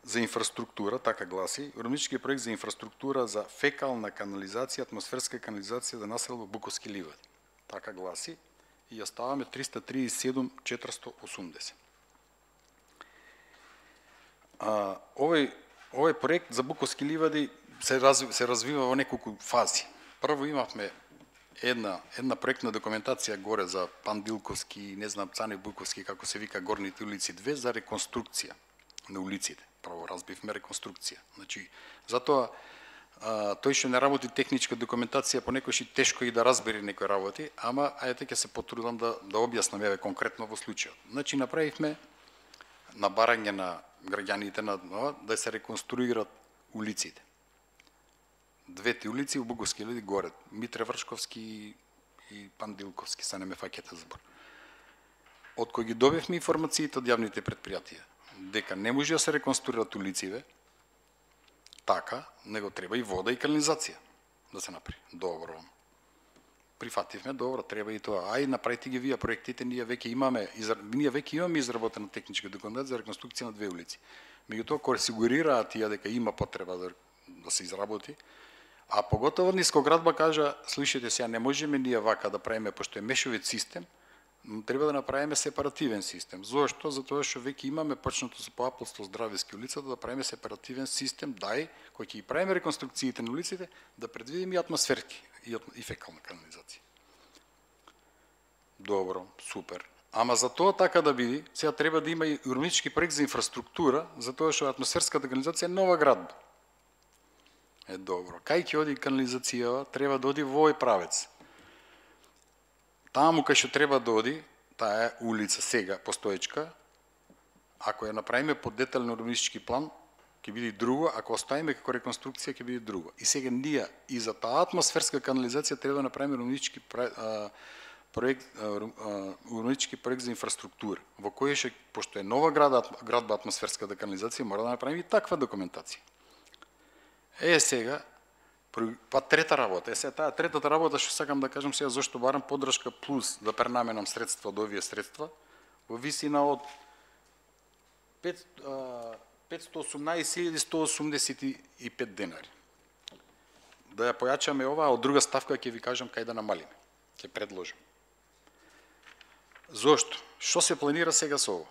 за инфраструктура, така гласи, урбанистички проект за инфраструктура за фекална канализација, атмосферска канализација за населба Буковски ливади. Така гласи. и ја ставаме 337.480. Овој проект за Буковски ливади се развива во неколку фази. Прво имавме една проектна документација горе за Пандилковски, не знам, Цане Буковски, како се вика, горните улици 2, за реконструкција на улиците. Прво разбивме реконструкција. Значи, затоа тој што не работи техничка документација, понекогаш и тешко и да разбере некои работи, ама ајде ќе се потрудам да објаснам еве конкретно во случајот. Значи, направивме на барање на граѓаните да се реконструират улиците. Двете улици во Буковски ливади горе, Митре Вршковски и Пандилковски, се не ме фаќате збор. Од кој ги добивме информациите од јавните предпријатија, дека не може да се реконструират улиците, така, него треба и вода и канализација да се направи. Добро. Прифативме, добро, треба и тоа. Ај, направите ги вие проектите, ние веќе имаме изработена техничка документација за реконструкција на две улици. Меѓутоа, кога сигурираа тие дека има потреба да се изработи, а поготово Нискоградба кажа, слушајте сега, не можеме ние вака да правиме, пошто е мешовит систем, треба да направиме сепаративен систем. Зошто? Затоа што веќе имаме почнато со Апостол Здравески улицата да правиме сепаративен систем, кој ќе ги правиме реконструкциите на улиците, да предвидиме и атмосферки и фекална канализација. Добро, супер. Ама за тоа така да биде, сега треба да има и урбанистички проект за инфраструктура, затоа што атмосферската канализација е нова градба. Добро. Кај ќе оди канализацијава, треба да оди во овој правец. Таму кај што треба да оди, таа е улица сега, постоечка, ако ја направиме по детален урбанистички план, ќе биде друго, ако оставиме како реконструкција, ќе биде друго. И сега ние и за таа атмосферска канализација треба да направиме урбанистички проект за инфраструктура, во кој што, пошто е нова градба атмосферската канализација, мора да направиме и таква документација. Сега, па трета работа. Сега таа третата работа што сакам да кажам сега зашто барам поддршка плюс да пренаменам средства од овие средства во висина од 518.185 денари. Да ја појачаме ова, од друга ставка ќе ви кажам кај да намалиме. Ќе предложам. Зошто? Што се планира сега со ова?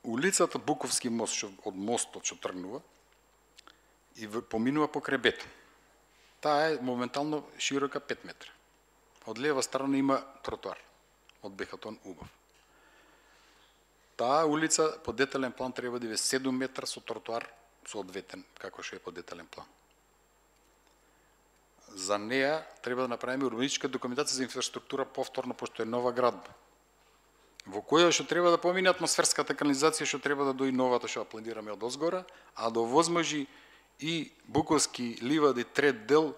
Улицата Буковски мост, што од мостот што тргнува, и поминува покрај бетон. Таа е моментално широка 5 метра. Од лева страна има тротоар од бетон убав. Таа улица по детален план треба да е 7 метра со тротоар соодветен, како што е по детален план. За неа треба да направиме урбанистичка документација за инфраструктура повторно, пошто е нова градба, во која што треба да помине атмосферската канализација, што треба да дои новата што ја планираме од озгора, а да овозможи и Буковски ливади трет дел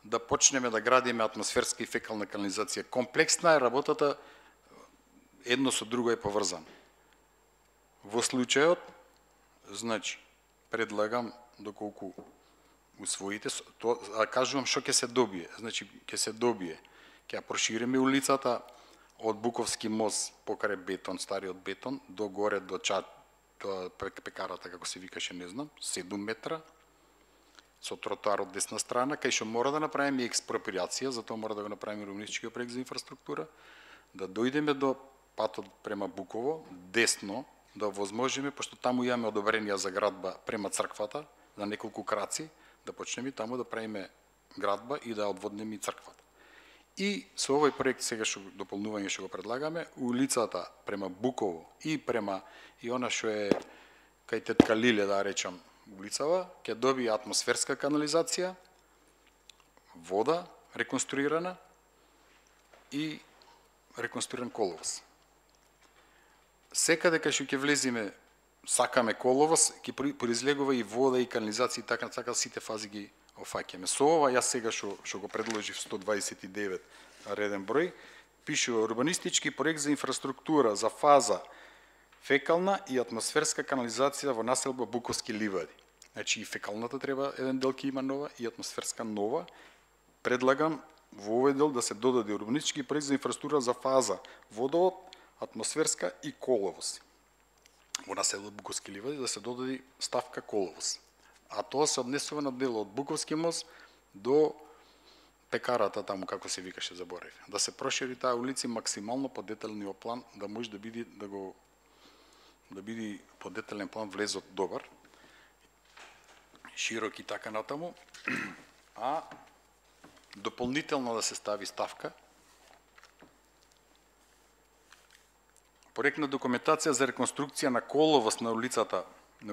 да почнеме да градиме атмосферска и фекална канализација. Комплексна е работата, едно со друго е поврзано. Во случајот, значи, предлагам доколку усвоите, кажувам што ќе се добие. Значи, ќе се добие, ќе ја прошириме улицата од Буковски мост покрај бетон, стариот бетон, до горе до пекарата, како се викаше, не знам, 7 метра, со тротоар од десна страна, кај што мора да направиме експроприација, затоа мора да го направиме урбанистички проект за инфраструктура, да дојдеме до патот према Буково, десно, да возможиме, пошто таму имаме одобренија за градба према црквата, на неколку краци, да почнеме таму да правиме градба и да одводнеме и црквата. И со овој проект сега што дополнување што го предлагаме, улицата према Буково и према и она што е кај тетка Лиле, да речам, улицава, ќе добие атмосферска канализација, вода реконструирана и реконструиран коловоз. Секаде кај што ќе влезиме, сакаме коловоз, ќе произлегува и вода и канализација и така сите фази ги офаќаме. Со ова јас сега што го предложив 129 реден број, пишува урбанистички проект за инфраструктура за фаза фекална и атмосферска канализација во населба Буковски ливади. Значи и фекалната треба еден дел ќе има нова и атмосферска нова. Предлагам во овој дел да се додаде урбанистички проект за инфраструктура за фаза водовод, атмосферска и коловоз. Во населба Буковски ливади да се додаде ставка коловоз. А тоа се однесува на дел од Буковски мост до пекарата таму, како се викаше, заборев. Да се прошири таа улици максимално по деталниот план, да може да биде по детален план влезот добар, широк и така натаму, а дополнително да се стави ставка проектна документација за реконструкција на коловоз на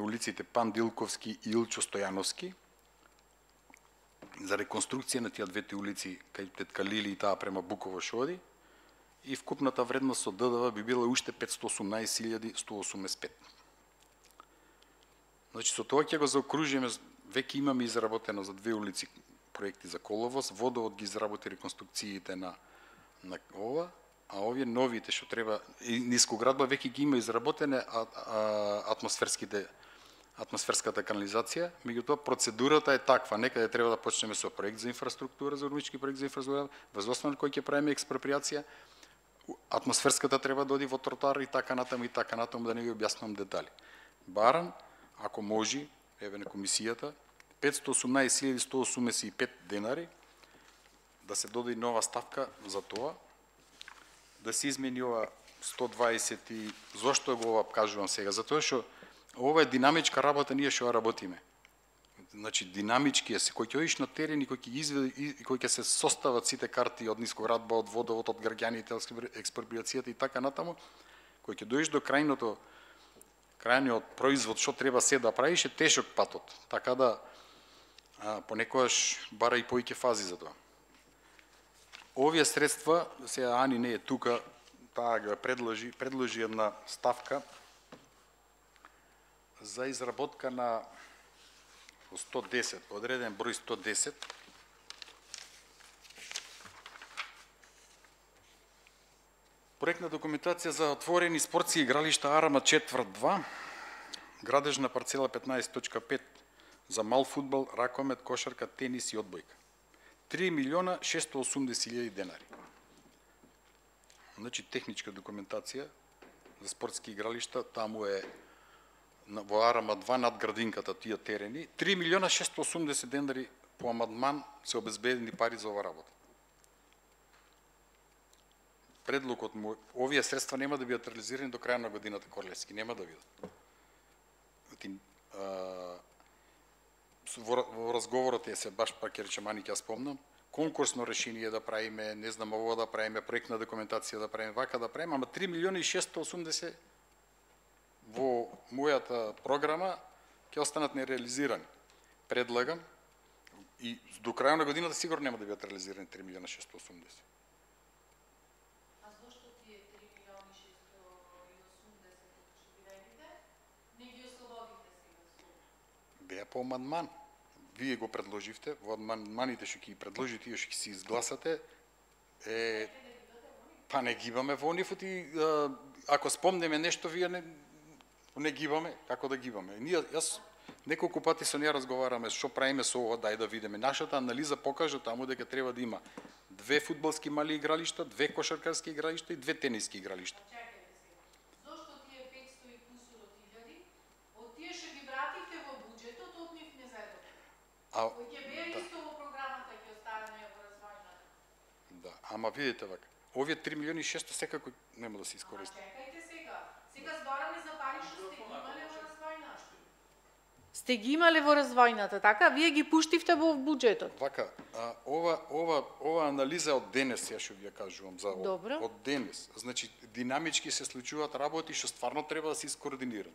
улиците Пан Дилковски и Илчо Стојановски, за реконструкција на тие двете улици кај Тетка Лили и таа према Буково шоди, и вкупната вредност од ДДВ би била уште 518.185. Значи, со тоа ќе го заокружиме, веќе имаме изработено за две улици проекти за коловоз, Водовод ги изработи реконструкциите на ова, а овие новите што треба, и нискоградба веќе ги има изработене атмосферската канализација, меѓутоа процедурата е таква, некаде треба да почнеме со проект за инфраструктура, за урбанички проект за инфраструктура, врз основа на кој ќе правиме експроприација, атмосферската треба да оди во тротоар и така натаму, да не ви објаснувам детали. Барам, ако може, еве на комисијата, 518.185 денари, да се додаде нова ставка за тоа, да се измени ова 120 и... Зошто го ова кажувам сега? Затоа што ова е динамичка работа, ние што работиме. Значи, динамички е се, кој ќе одиш на терен и кој ќе изведе и кој ќе се состават сите карти од нискоградба, од водовод, од граѓаните, експроприацијата и така натаму, кој ќе дојдеш до крајниот производ, што треба се да правиш, е тешок патот. Така да, понекогаш бара и поиќе фази за тоа. Овие средства, сега Ани не е тука, таа го предложи една ставка за изработка на 110, одреден број 110, проектна документација за отворени спортски игралишта Арама четврт 2, градежна парцела 15.5 за мал фудбал, ракомет, кошарка, тенис и одбојка. 3.680.000 денари. Значи, техничка документација за спортски игралишта, таму е во Арама 2 над градинката тие терени, 3.680.000 денари по амандман се обезбедени пари за ова работа. Предлогот му, овие средства нема да бидат реализирани до крај на годината, Корлевски, нема да бидат. Во разговорот е се баш пак ќе речем, Ани ќе спомнам, конкурсно решение да правиме, не знам ово да правиме, проектна документација да правиме, вака да правиме, ама 3.680.000 во мојата програма ќе останат нереализирани. Предлагам и до крај на годината сигурно нема да бидат реализирани 3.680.000. А зошто тие 3.680.000 не ги ослободите сега? Беа по амандман. Вие го предложивте, во амандманите што ќе ги предложи, тие што ќе се изгласате, па не гибаме во нив, ако спомнеме нешто, вие не гибаме, како да гибаме. Јас неколку пати со неја разговараме што правиме со ова, дај да видиме. Нашата анализа покажа таму дека треба да има 2 фудбалски мали игралишта, 2 кошаркарски игралишта и 2 тениски игралишта. Зошто тие 500 и кусурот илјади, од тие што ги вративте во буџетот, од нив не заедобите? Кој ќе беа исто во програмата, ќе оставаме во развојната? Да, ама видите вака, овие 3.600.000 секако нема да се искористат. Чекајте сега збораме за пари што сте ги имале во развојната. Сте ги имале во развојната, така? Вие ги пуштивте во буџетот. Вака, ова анализа од денес, ја што ви ја кажувам за Добро. од денес. Значи, динамички се случуваат работи што стварно треба да се искоординираат.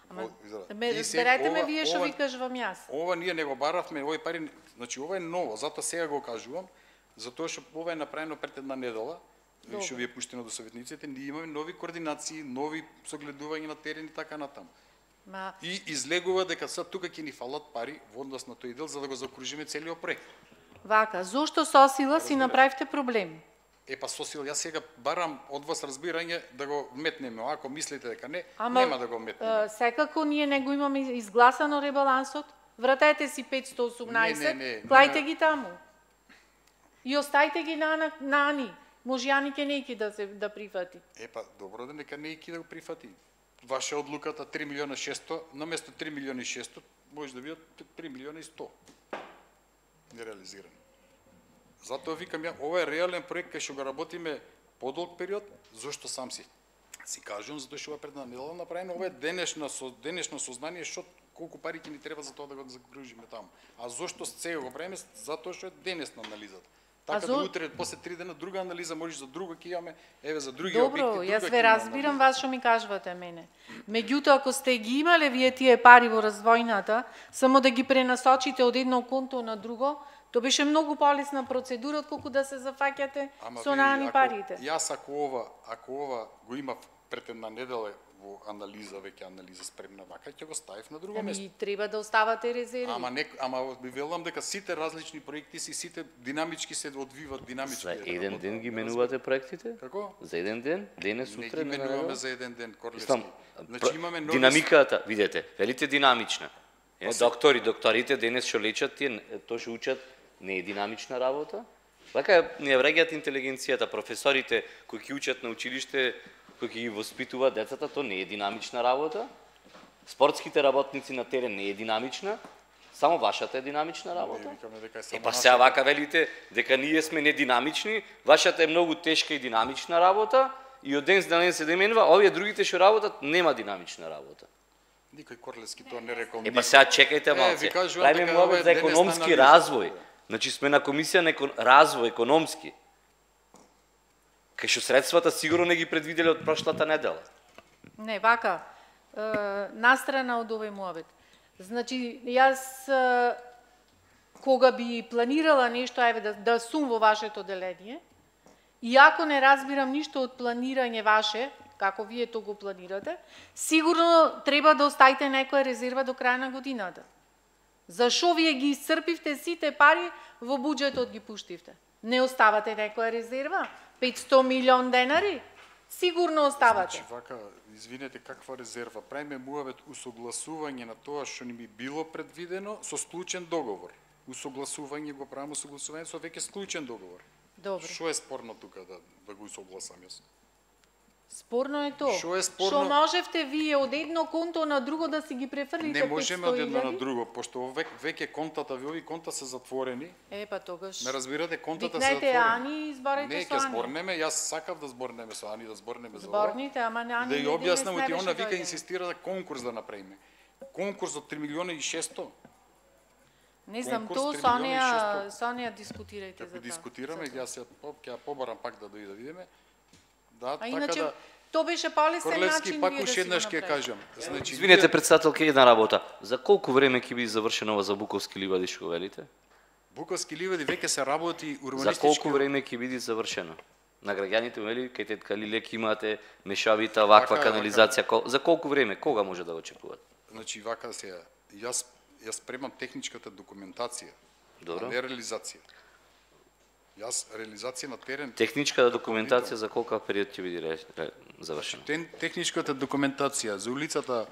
Разберете ме вие што ви кажувам јас. Ова ние не го баравме, овој пари, значи ова е ново, затоа сега го кажувам, затоа што ова е направено пред една недела, што ви е пуштено до советниците, ние имаме нови координации, нови согледувања на терен и така натаму. И излегува дека сега тука ќе ни фалат пари во однос на тој дел за да го заокружиме целиот проект. Вака, зошто со сила си направивте проблем? Па со сила, јас сега барам од вас разбирање да го метнеме, ако мислите дека не, нема да го метнеме. Секако ние не го имаме изгласано ребалансот, вратете си 518, клајте ги таму. И остајте ги на Ани. Може Ани ке нејки да прифати. Па добро да нека нејки да го прифати. Ваша одлуката 3.600.000, наместо 3.600.000 може да бидат 3.100.000 нереализирани. Затоа викам ја, ова е реален проект кај што го работиме подолг период, зошто сам си кажувам, затоа што ова предна недела направено, ова е денешно сознание што колку пари ќе ни треба за тоа да го загружиме таму. А зошто сега го правиме? Затоа што е денесна анализата. Така да утре, после 3 дена, друга анализа можеш за друго ќе имаме, еве за други објекти. Добро, јас ве разбирам вас што ми кажувате мене. Меѓутоа, ако сте ги имале вие тие пари во развојната, само да ги пренасочите од едно конто на друго, тоа беше многу полесна процедура отколку да се зафаќате со наани парите. Јас ако ова го имав пред една недела во анализа, веќе анализа спремна вака, ќе го ставив на друго место. Треба да оставате резерви. Ама ви велам дека сите различни проекти сите динамички се одвиват динамички. За еден ден ги менувате проектите? Како? За еден ден? Денес, утре? Не ги менуваме за еден ден, Корлевски. Значи имаме нови... Динамиката, видете, велите динамична. Докторите денес што лечат, тоа што учат, не е динамична работа. Така не враќаат интелигенцијата, професорите кои ќе учат на училиште, кои ги воспитуваат децата, то не е динамична работа. Спортските работници на терен не е динамична, само вашата е динамична работа. Па сега вака велите дека ние сме нединамични, вашата е многу тешка и динамична работа и од ден за ден се деменува, овие другите што работат нема динамична работа. Никој Корлевски тоа не рекол. Па сега чекајте малце. Правиме муабет за економски развој. Значи сме на комисија на развој економски. Кај што средствата сигурно не ги предвиделе од прошлата недела. Не, вака, настрана од овој муабет. Значи, јас кога би планирала нешто, да сум во вашето деление, иако не разбирам ништо од планирање ваше, како вие тоа го планирате, сигурно треба да оставите некоја резерва до крај на годината. Зашо вие ги исцрпивте сите пари во буџетот ги пуштивте? Не оставате некоја резерва? 500 милион денари? Сигурно оставате. Значи, вака, извинете, каква резерва? Правиме муавет усогласување на тоа што ни би било предвидено со склучен договор. Усогласување го правиме усогласување со веќе склучен договор. Добро. Што е спорно тука да го усогласам јас? Спорно е тоа. Што е спорно? Што можевте вие од едно конто на друго да си ги префрлите 500.000? Не можеме од едно на друго, пошто веќе контата, овие конта се затворени. Па тогаш. Ме разбирате, контата се затворени. Викнете Ани и зборете со Ани. Не, ќе зборнеме, јас сакав да зборнеме со Ани, да зборнеме за ова. Зборните, ама на Ани да ја објаснам, она вика дојде. инсистира да конкурс да направиме. Конкурс од 3 милиона и 600. Не знам, Конкурс, тоа 3 милиона и 600. со Ани дискутирајте за тоа. Како дискутираме, јас ќе побарам пак да дојде да видиме. Да, А така иначе, да тоа беше полесен Корлевски, начин пак вие да уште си го еднаш ќе направите. кажам. Значи, Извинете, председателке, една работа. За колку време ќе биде завршено ова за Буковски ливади што велите? Буковски ливади веќе се работи За урбанистички. колку време ќе биде завршено? На граѓаните, вели, кај тетка Лилек имате мешавита, ваква канализација. За колку време? Кога може да го очекуват? Значи, вака се, јас спремам техничката документација, Добро. а не реализација. Јас реализација на терен. Техничката документација за колку период ќе биде завршена? Техничката документација за улицата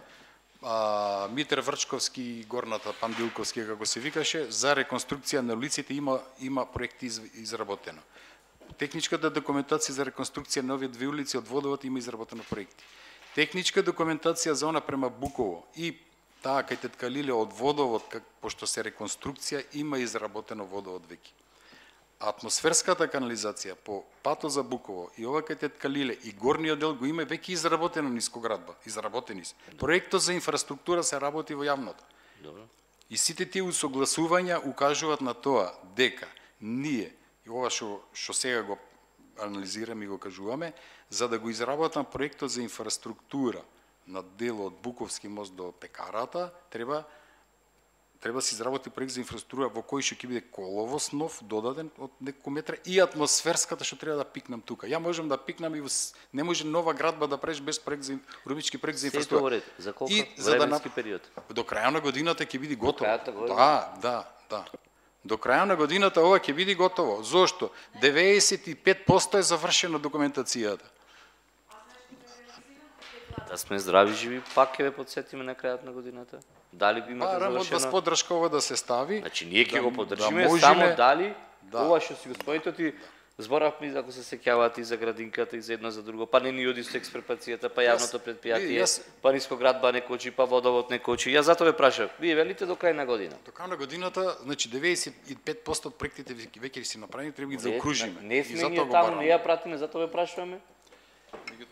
Митер Врчковски, горната Пандилковски, како се викаше, за реконструкција на улиците има проекти изработено. Техничката документација за реконструкција на овие две улици од водовод има изработено проекти. Техничка документација за она према Буково и таа кај тетка Лиле од водовод, пошто се реконструкција, има изработено водовод веќе. Атмосферската канализација по патот за Буково и ова кај тетка Лиле и горниот дел го има веќе изработено нискоградба, изработени се. Проектот за инфраструктура се работи во јавното. Добро. И сите тие усогласувања укажуваат на тоа дека ние, и ова што сега го анализираме и го кажуваме, за да го изработам проектот за инфраструктура на делот од Буковски мост до пекарата, треба да се изработи проект за инфраструктура во кој што ќе биде коловоз нов, додаден од неколку метра и атмосферската што треба да пикнам тука. Ја можам да пикнам и не може нова градба да правиш без проект за урбанистички проект за инфраструктура. За колку временски период? До крајот на годината ќе биде готово. До крајот на годината? Да. До крајот на годината ова ќе биде готово. Зошто? 95% е завршена документацијата. Да сме здрави живи, пак ќе ве подсетиме на крајот на годината. Дали би имате Рамот завршено? без поддршка ова да се стави. Значи ние ќе го поддржиме, можеме... само дали ова што си господите ти Зборавме, ако се сеќавате, и за градинката, и за едно за друго, па не ни оди со експроприацијата, па јавното предпријатие, па нискоградба не кочи, па водовод не кочи. Јас затоа ве прашав, вие велите до крај на година? До крај на годината, значи 95% од проектите веќе си направени, треба ги заокружиме. Не сме ние таму, не ја пратиме, затоа ве прашуваме.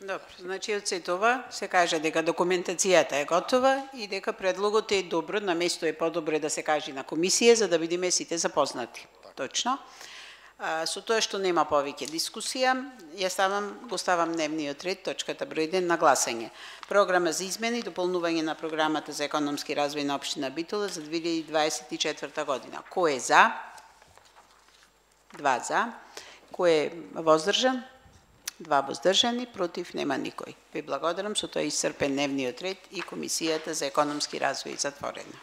Добро, значи од се това се каже дека документацијата е готова и дека предлогот е добро, на место е подобро да се каже на комисија за да бидеме сите запознати. Точно. Со тоа што нема повеќе дискусија, го ставам дневниот ред, точката број 1 на гласање. Програма за измени и дополнување на програмата за економски развој на општина Битола за 2024 година. Кој е за? 2 за. Кој е воздржан? 2 воздржани, против нема никој. Ви благодарам, со тоа е исцрпен дневниот ред и комисијата за економски развој затворена.